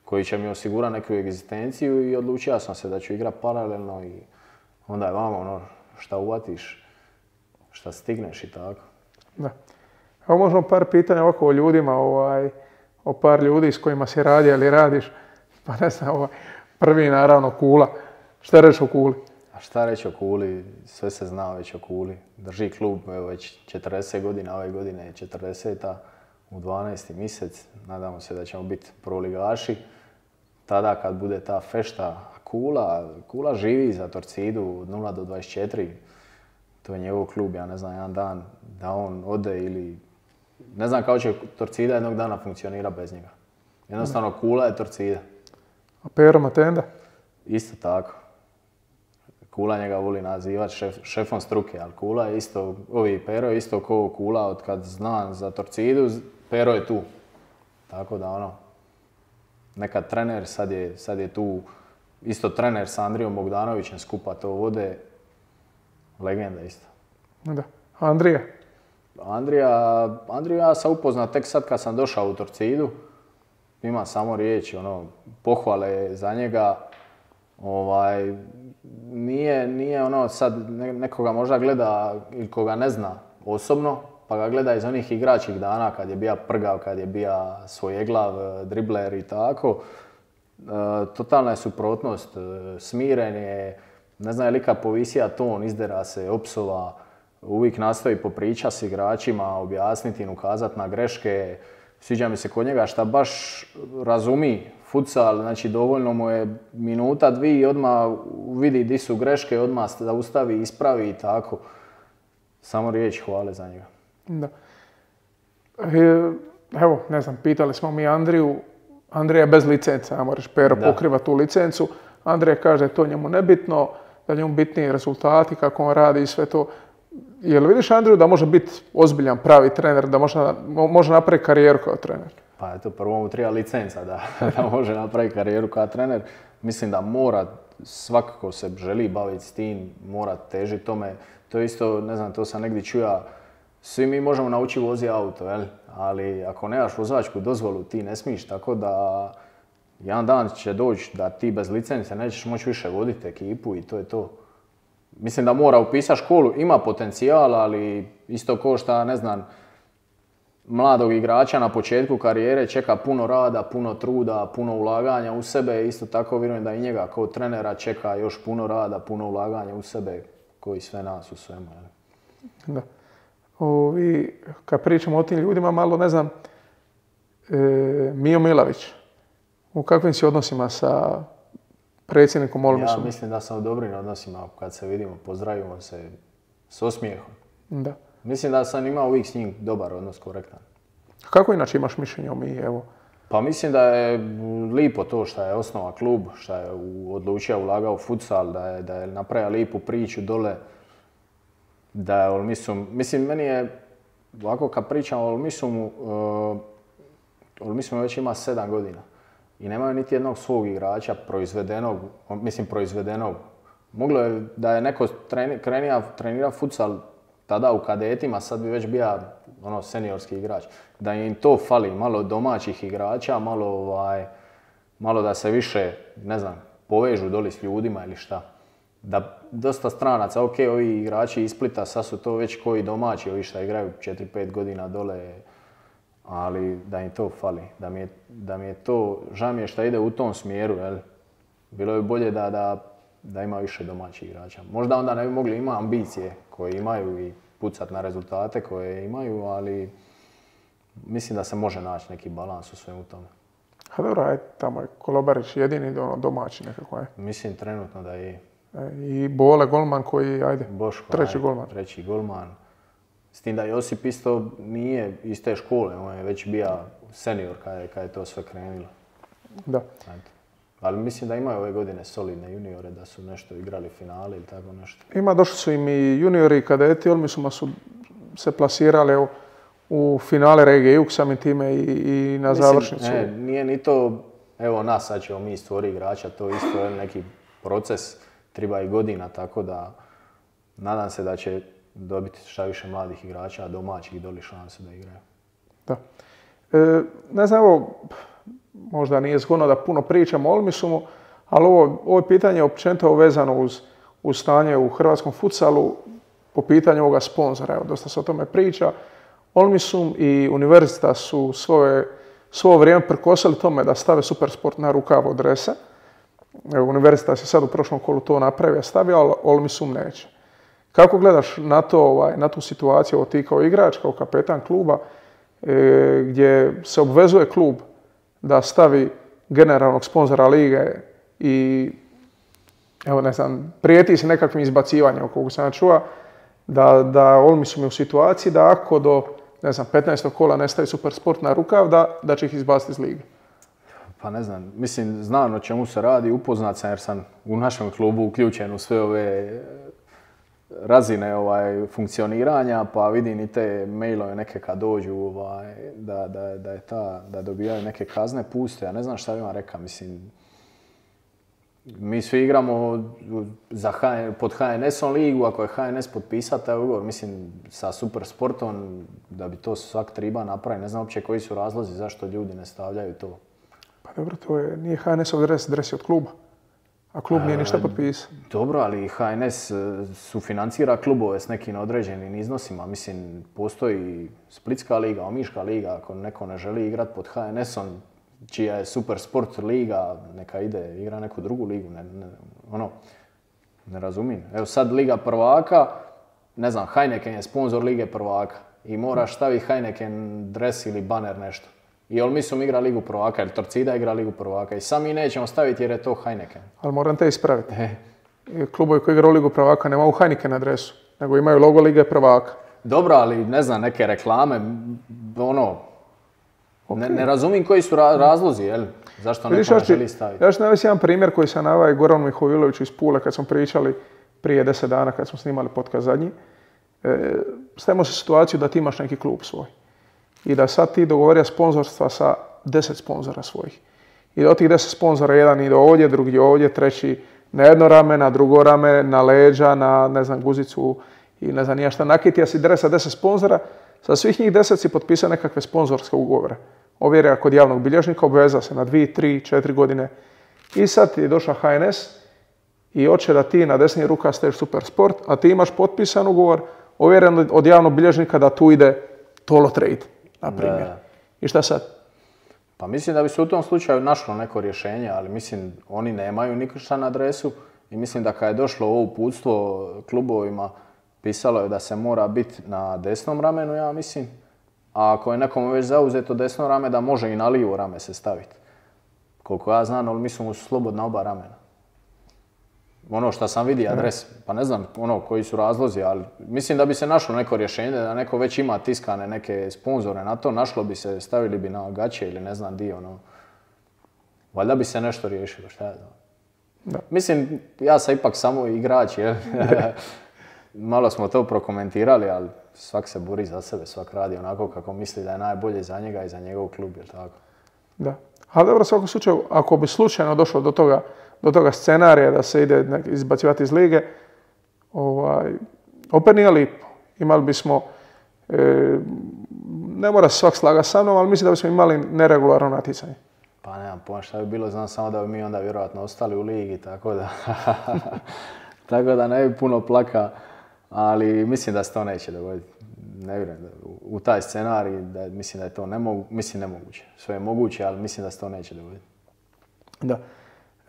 Speaker 2: koji će mi osigurati neku egzistenciju i odlučio sam se da ću igrati paralelno i onda je vamo ono šta uvatiš, šta stigneš i tako.
Speaker 3: Da. Evo možemo par pitanja ovako o ljudima, ovaj, o par ljudi s kojima si radio ili radiš. Pa ne znam, ovaj, prvi naravno Kula. Šta reći o Kuli?
Speaker 2: A šta reći o Kuli? Sve se zna već o Kuli. Drži klub evo, već četrdeset godina, ove godine je četrdeseta u dvanaesti mjesec. Nadamo se da ćemo biti prvoligaši. Tada kad bude ta fešta, Kula, Kula živi za Torcidu od nula do dvadeset četiri. To je njegov klub, ja ne znam, jedan dan da on ode ili... Ne znam kako će Torcida jednog dana funkcionira bez njega. Jednostavno, Kula je Torcida.
Speaker 3: A Pero Matenda?
Speaker 2: Isto tako. Kula njega voli nazivati šef, šefom struke, ali Kula je isto, ovi Pero je isto kao Kula od kad znam za Torcidu, Pero je tu. Tako da ono, nekad trener, sad je, sad je tu isto trener sa Andrijom Bogdanovićem, skupa to vode, legenda isto.
Speaker 3: Da. Andrija?
Speaker 2: Andrija, Andriju ja sam upoznat tek sad kad sam došao u Torcidu. Ima samo riječi, ono, pohvale za njega. Ovaj, nije, nije ono sad nekoga možda gleda ili koga ne zna osobno, pa ga gleda iz onih igračkih dana kad je bija prgav, kad je bija svojeglav, dribler i tako. E, totalna je suprotnost, smiren je, ne znam je li kad povisija ton, izdera se, opsova, uvijek nastoji popriča s igračima, objasniti im, ukazati na greške. Sviđa mi se kod njega šta baš razumi futsal, znači dovoljno mu je minuta, dvije i odmah vidi di su greške, odmah zaustavi, ispravi i tako. Samo riječi hvale za njega.
Speaker 3: Da. E, evo, ne znam, pitali smo mi Andriju, Andrija je bez licence, a moraš Pero pokriva tu licencu. Andrija kaže da je to njemu nebitno, da njemu bitniji rezultati, kako on radi i sve to. Jel vidiš Andriju da može biti ozbiljan, pravi trener, da može, može napraviti karijeru kao trener?
Speaker 2: Pa eto, prvo mu treba licenca da, da može napraviti karijeru kao trener. Mislim da mora, svakako se želi baviti s tim, mora težiti tome. To je isto, ne znam, to sam negdje čuja, svi mi možemo naučiti voziti auto, jel? Ali ako nemaš vozačku dozvolu ti ne smiješ, tako da jedan dan će doći da ti bez licence nećeš moći više voditi ekipu i to je to. Mislim da mora upisati školu, ima potencijal, ali isto ko šta, ne znam, mladog igrača na početku karijere čeka puno rada, puno truda, puno ulaganja u sebe. Isto tako vjerujem da i njega kao trenera čeka još puno rada, puno ulaganja u sebe, koji sve nas u svemu.
Speaker 3: Da. Ovi, kad pričamo o tim ljudima, malo ne znam, e, Mijo Milavić, u kakvim si odnosima sa predsjednikom Olmisom?
Speaker 2: Ja mislim da sam u dobrim odnosima, kad se vidimo, pozdravimo se s osmijehom.
Speaker 3: Da.
Speaker 2: Mislim da sam imao uvijek s njim dobar odnos, korektan.
Speaker 3: Kako inače imaš mišljenje o Miji, evo?
Speaker 2: Pa mislim da je lipo to što je osnova klub, što je odlučio ulagao u futsal, da je, da je napravio lipu priču dole. Da je Olmisum, mislim meni je, ovako kad pričam o Olmisumu, uh, Olmisum već ima sedam godina. I nemaju niti jednog svog igrača proizvedenog, mislim proizvedenog. Moglo je da je neko treni, krenija, trenira futsal tada u kadetima, sad bi već bio ono, seniorski igrač. Da im to fali, malo domaćih igrača, malo, ovaj, malo da se više, ne znam, povežu doli s ljudima ili šta. Da dosta stranaca, ok, ovi igrači iz Splita, sad su to već koji domaći, ovi šta igraju četiri pet godina dole, ali da im to fali. Da mi je, da mi je to, žao mi je šta ide u tom smjeru, jel? Bilo je bolje da, da, da ima više domaćih igrača. Možda onda ne bi mogli imati ambicije koje imaju i pucat na rezultate koje imaju, ali mislim da se može naći neki balans u svemu tome.
Speaker 3: A dobro, aj, tamo je Kolobarić jedini ono, domaći nekako je.
Speaker 2: Mislim trenutno da je.
Speaker 3: E, I Bole golman koji, ajde,
Speaker 2: Boško,
Speaker 3: treći
Speaker 2: ajde,
Speaker 3: golman.
Speaker 2: Treći golman. S tim da Josip isto nije iz te škole, on je već bio senior kad je, kad je to sve krenulo.
Speaker 3: Da.
Speaker 2: Ajde. Ali mislim da imaju ove godine solidne juniore, da su nešto igrali finale ili tako nešto.
Speaker 3: Ima, došli su im i juniori i kadeti, Olmisuma su se plasirali u, u finale regije Jug samim time i, i na
Speaker 2: mislim,
Speaker 3: završnicu.
Speaker 2: Ne, nije ni to, evo nas sad ćemo mi stvori igrača, to isto je neki proces, treba i godina, tako da nadam se da će dobiti šta više mladih igrača, domaćih doli šanse da igraju.
Speaker 3: Da. E, ne znam, evo, možda nije zgodno da puno pričamo o Olmisumu, ali ovo, ovo je pitanje općenito vezano uz, uz stanje u hrvatskom futsalu po pitanju ovoga sponzora. Evo, dosta se o tome priča. Olmisum i Univerzita su svoje, svoje vrijeme prikosili tome da stave Supersport na rukav od dresa. Univerzita se sad u prošlom kolu to napravio, stavio, ali Olmisum neće. Kako gledaš na, to, ovaj, na tu situaciju, ovo ti kao igrač, kao kapetan kluba, e, gdje se obvezuje klub da stavi generalnog sponzora lige i evo ne znam, prijeti se nekakvim izbacivanjem, koliko sam ja čuo, da, da Olmisum je u situaciji da ako do ne znam, petnaestog kola ne stavi Supersport na rukav, da, da će ih izbaciti iz lige.
Speaker 2: Pa ne znam, mislim, znam o čemu se radi, upoznat sam jer sam u našem klubu uključen u sve ove razine ovaj, funkcioniranja, pa vidim i te mailove neke kad dođu ovaj, da, da, da, je ta, da dobijaju neke kazne puste. Ja ne znam šta bi vam rekao, mislim, mi svi igramo za H N, pod H N S-om ligu, ako je H N S potpisao taj ugovor, mislim, sa Supersportom, da bi to svak triba napraviti. Ne znam uopće koji su razlozi zašto ljudi ne stavljaju to.
Speaker 3: Pa dobro, to je, nije H N S-ov dres, dres je od kluba. A klub nije ništa potpisao.
Speaker 2: Dobro, ali H N S sufinancira klubove s nekim određenim iznosima. Mislim, postoji Splitska liga, Omiška liga, ako neko ne želi igrati pod H N S-om, čija je Super Sport liga, neka ide igra neku drugu ligu, ne, ne, ono, ne razumijem. Evo sad Liga prvaka, ne znam, Heineken je sponzor Lige prvaka i moraš staviti Heineken dres ili baner nešto. I Olmisum igra Ligu prvaka, ili Torcida igra Ligu prvaka i sami nećemo staviti jer je to Heineken.
Speaker 3: Ali moram te ispraviti. E. Klubovi koji igraju Ligu prvaka nemaju Heineken adresu, nego imaju logo Lige prvaka.
Speaker 2: Dobro, ali ne znam, neke reklame, ono, okay. ne, ne razumijem koji su ra razlozi, jel? Zašto neko ne želi staviti.
Speaker 3: Ja ću navesti jedan primjer koji sam naveo Goranu Mihoviloviću iz Pule kad smo pričali prije deset dana kad smo snimali podcast zadnji. E, stavimo se situaciju da ti imaš neki klub svoj. I da sad ti dogovorio sponzorstva sa deset sponzora svojih. I da od tih deset sponzora jedan ide ovdje, drugi ovdje, treći na jedno rame, na drugo rame, na leđa, na ne znam, guzicu i ne znam nija šta. Nakitija si dres sa deset sponzora, sa svih njih deset si potpisao nekakve sponzorske ugovore. Ovjera kod javnog bilježnika, obveza se na dvije, tri, četiri godine. I sad ti je došla H N S i hoće da ti na desni ruka staviš Supersport, a ti imaš potpisan ugovor, ovjeren od javnog bilježnika da tu ide Tolo Trade, na primjer. Da. I šta sad?
Speaker 2: Pa mislim da bi se u tom slučaju našlo neko rješenje, ali mislim oni nemaju ništa na adresu i mislim da kad je došlo ovo uputstvo klubovima, pisalo je da se mora biti na desnom ramenu, ja mislim. A ako je nekom već zauzeto desno rame, da može i na lijevo rame se staviti. Koliko ja znam, ali mislim su slobodna oba ramena. Ono što sam vidio adres, pa ne znam ono koji su razlozi, ali mislim da bi se našlo neko rješenje, da neko već ima tiskane neke sponzore na to, našlo bi se, stavili bi na gaće ili ne znam di, ono. Valjda bi se nešto riješilo, šta ja znam. Da. Mislim, ja sam ipak samo igrač, jel? Malo smo to prokomentirali, ali svak se bori za sebe, svak radi onako kako misli da je najbolje za njega i za njegov klub, jel tako? Da.
Speaker 3: Ali dobro, u svakom slučaju, ako bi slučajno došlo do toga, do toga scenarija da se ide izbacivati iz lige, ovaj, opet nije lipo. Imali bismo, e, ne mora se svak slagati sa mnom, ali mislim da bismo imali neregularno natjecanje.
Speaker 2: Pa nemam pojma šta bi bilo, znam samo da bi mi onda vjerojatno ostali u ligi, tako da, tako da ne bi puno plaka, ali mislim da se to neće dogoditi. Ne vjerujem da, u taj scenarij, da, mislim da je to nemogu, mislim nemoguće. Sve je moguće, ali mislim da se to neće dogoditi.
Speaker 3: Da.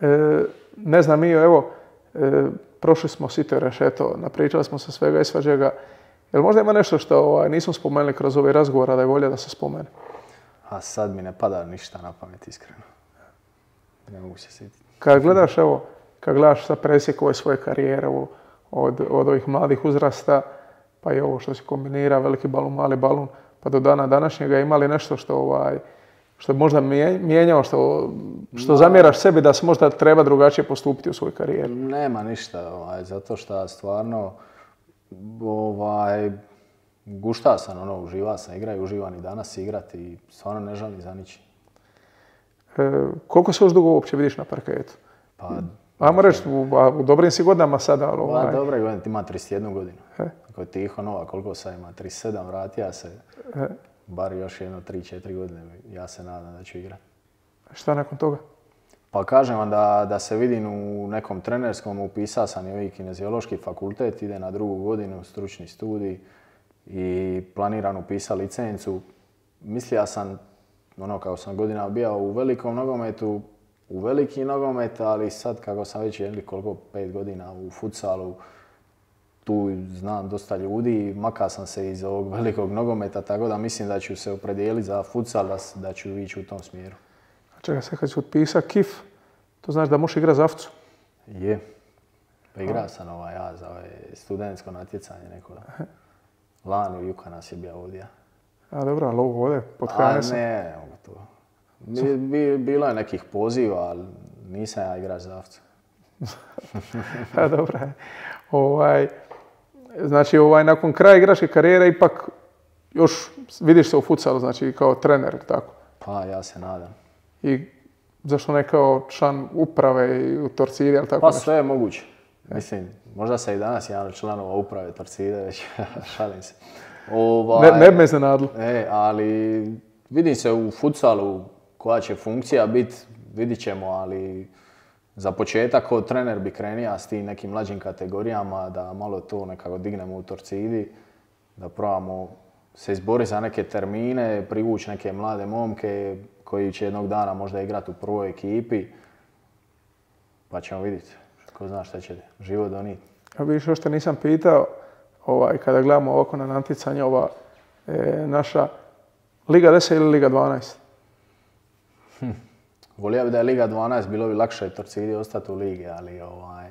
Speaker 3: E, ne znam, mi evo, e, prošli smo sito rešeto, napričali smo se svega i svađega. Jel možda ima nešto što ovaj, nismo spomenuli kroz ovaj razgovor, a da je volja da se spomene?
Speaker 2: A sad mi ne pada ništa na pamet, iskreno. Ne mogu se sjetiti.
Speaker 3: Kad gledaš, evo, kad gledaš sa presjek ove svoje karijere od, od ovih mladih uzrasta, pa i ovo što se kombinira, veliki balun, mali balun, pa do dana današnjega imali nešto što ovaj, što je možda mijenjao, što, što no. zamjeraš sebi da se možda treba drugačije postupiti u svojoj karijeri?
Speaker 2: Nema ništa, ovaj, zato što stvarno ovaj, gušta sam, ono, uživa sam, igra i uživam i danas igrati i stvarno ne žalim za ničim.
Speaker 3: E, koliko se još dugo uopće vidiš na parketu?
Speaker 2: Pa,
Speaker 3: ajmo reći, u, u dobrim si godinama sada, ali ovaj...
Speaker 2: Pa, dobre godine, ima trideset jednu godinu. E? Ako je Tiho Nova, koliko sad ima? trideset sedam, vratija se. E? Bar još jedno tri četiri godine, ja se nadam da ću igrati.
Speaker 3: Šta nakon toga?
Speaker 2: Pa kažem vam da, da se vidim u nekom trenerskom, upisao sam i ovaj kineziološki fakultet, ide na drugu godinu, stručni studij i planiram upisati licencu. Mislio sam, ono kako sam godina bio u velikom nogometu, u veliki nogomet, ali sad kako sam već jedli koliko, pet godina u futsalu, tu znam dosta ljudi, makao sam se iz ovog velikog nogometa, tako da mislim da ću se opredijeliti za futsal, da, da ću ići u tom smjeru.
Speaker 3: A čekaj, sad kad si otpisao kif, to znači da možeš igrati za Afcu?
Speaker 2: Je. Pa igrao sam ovaj, ja za ovaj studentsko natjecanje neko. Lani u Juka nas je bio ovdje.
Speaker 3: A dobro, ali ovo ovdje, pod H N S-om?
Speaker 2: A ne, ne mogu to. Bi, bi, bilo je nekih poziva, ali nisam ja igrač za Afcu.
Speaker 3: A dobro. Ovaj, znači, ovaj, nakon kraja igračke karijere ipak još vidiš se u futsalu, znači kao trener, tako?
Speaker 2: Pa ja se nadam.
Speaker 3: I zašto ne kao član uprave i u Torcidi, ali tako
Speaker 2: Pa
Speaker 3: nešto?
Speaker 2: sve je moguće. Mislim, možda se i danas jedan od članova uprave Torcide, već šalim se. Ovaj,
Speaker 3: Ne, ne bi me iznenadilo.
Speaker 2: E, ali vidim se u futsalu koja će funkcija biti, vidit ćemo, ali za početak kao trener bi krenija s tim nekim mlađim kategorijama, da malo to nekako dignemo u Torcidi, da probamo se izboriti za neke termine, privući neke mlade momke koji će jednog dana možda igrati u prvoj ekipi, pa ćemo vidjeti. Ko zna šta će život donijeti.
Speaker 3: Ja vidiš, još te nisam pitao, ovaj, kada gledamo ovako na natjecanje, ova e, naša Liga deset ili Liga dvanaest?
Speaker 2: Hm. Volio bi da je Liga dvanaest, bilo bi lakše Torcidi ostati u ligi, ali ovaj,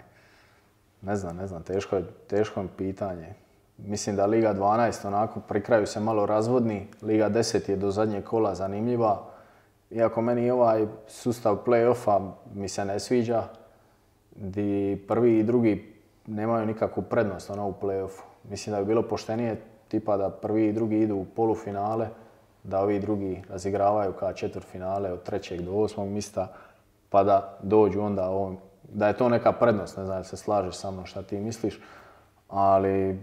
Speaker 2: ne znam, ne znam, teško je, teško je pitanje. Mislim da Liga dvanaest onako pri kraju se malo razvodni, Liga deset je do zadnjeg kola zanimljiva. Iako meni ovaj sustav play-offa mi se ne sviđa, di prvi i drugi nemaju nikakvu prednost ono, u play-offu. Mislim da bi bilo poštenije tipa da prvi i drugi idu u polufinale, da ovi drugi razigravaju kao četvrtfinale od trećeg do osmog mjesta, pa da dođu onda ovom, da je to neka prednost, ne znam da se slažeš sa mnom šta ti misliš, ali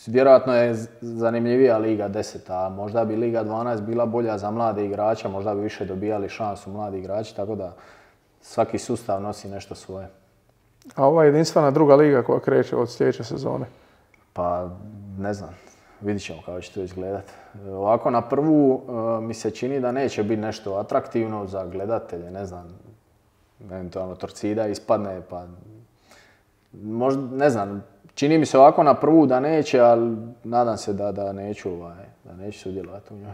Speaker 2: vjerojatno je zanimljivija Liga deset, a možda bi Liga dvanaest bila bolja za mlade igrače, možda bi više dobijali šansu mladi igrači, tako da svaki sustav nosi nešto svoje.
Speaker 3: A ova jedinstvena druga liga koja kreće od sljedeće sezone?
Speaker 2: Pa ne znam, vidit ćemo kako će to izgledat. Ovako na prvu mi se čini da neće biti nešto atraktivno za gledatelje, ne znam, eventualno Torcida ispadne, pa možda, ne znam, čini mi se ovako na prvu da neće, ali nadam se da, da neću, ovaj, da neću sudjelovati u njoj.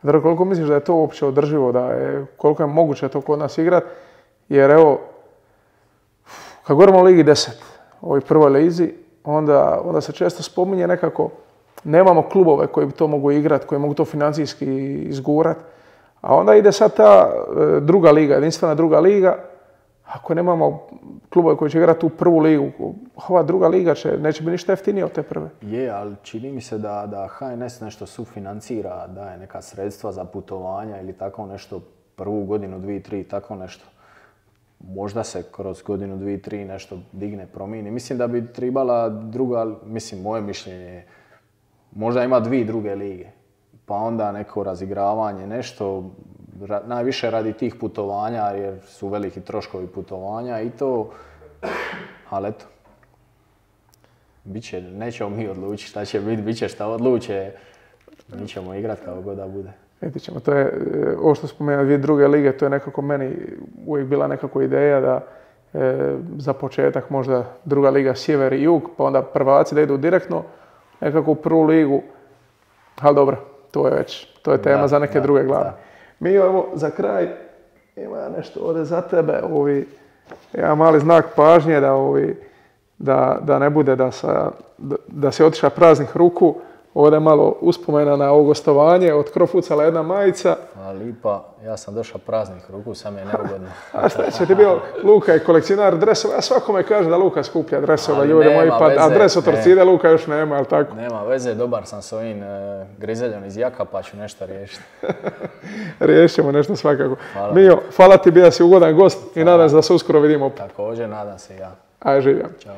Speaker 3: Dobro, koliko misliš da je to uopće održivo, da je, koliko je moguće to kod nas igrat? Jer evo, kad govorimo o Ligi deset, ovoj prvoj lizi, onda, onda se često spominje nekako, nemamo klubove koji bi to mogu igrati, koji mogu to financijski izgurat, a onda ide sad ta e, druga liga, jedinstvena druga liga. Ako nemamo klubove koji će igrati u prvu ligu, ova druga liga će, neće biti ništa jeftinije od te prve.
Speaker 2: Je, ali čini mi se da, da H N S nešto sufinancira, daje neka sredstva za putovanja ili tako nešto, prvu godinu, dvije, tri, tako nešto. Možda se kroz godinu, dvije, tri nešto digne, promijeni. Mislim da bi trebala druga, mislim, moje mišljenje je, možda ima dvije druge lige, pa onda neko razigravanje, nešto, ra, najviše radi tih putovanja jer su veliki troškovi putovanja i to, ali eto. Biće, nećemo mi odlučiti šta će biti, bit će šta odluče, mi ćemo igrati kao god da bude.
Speaker 3: Vidjet ćemo, to je, ovo što spomenuo dvije druge lige, to je nekako meni uvijek bila nekako ideja da e, za početak možda druga liga sjever i jug, pa onda prvaci da idu direktno nekako u prvu ligu, ali dobro, to je već, to je tema
Speaker 2: da,
Speaker 3: za neke
Speaker 2: da,
Speaker 3: druge glave.
Speaker 2: Da.
Speaker 3: Mi evo za kraj ima nešto ovdje za tebe, ovi, jedan mali znak pažnje da, ovi, da, da ne bude da, sa, da, da se otiša praznih ruku. Ovdje je malo uspomena na ovo gostovanje, od Crofutsala jedna majica.
Speaker 2: A lipa, ja sam došao praznih ruku, sam je neugodno.
Speaker 3: A šta će ti bio, Luka je kolekcionar dresova, a svakome kaže da Luka skuplja dresova, ljudi moji, pa
Speaker 2: veze,
Speaker 3: a dres od Torcide Luka još nema, ali tako?
Speaker 2: Nema veze, dobar sam s ovim e, grizeljom iz jaka, pa ću nešto riješiti.
Speaker 3: Riješit ćemo nešto svakako.
Speaker 2: Hvala.
Speaker 3: Mio, hvala ti, bio si ugodan gost i nadam se da se uskoro vidimo.
Speaker 2: Također, nadam se i ja.
Speaker 3: Aj, živjam.
Speaker 2: Ćao.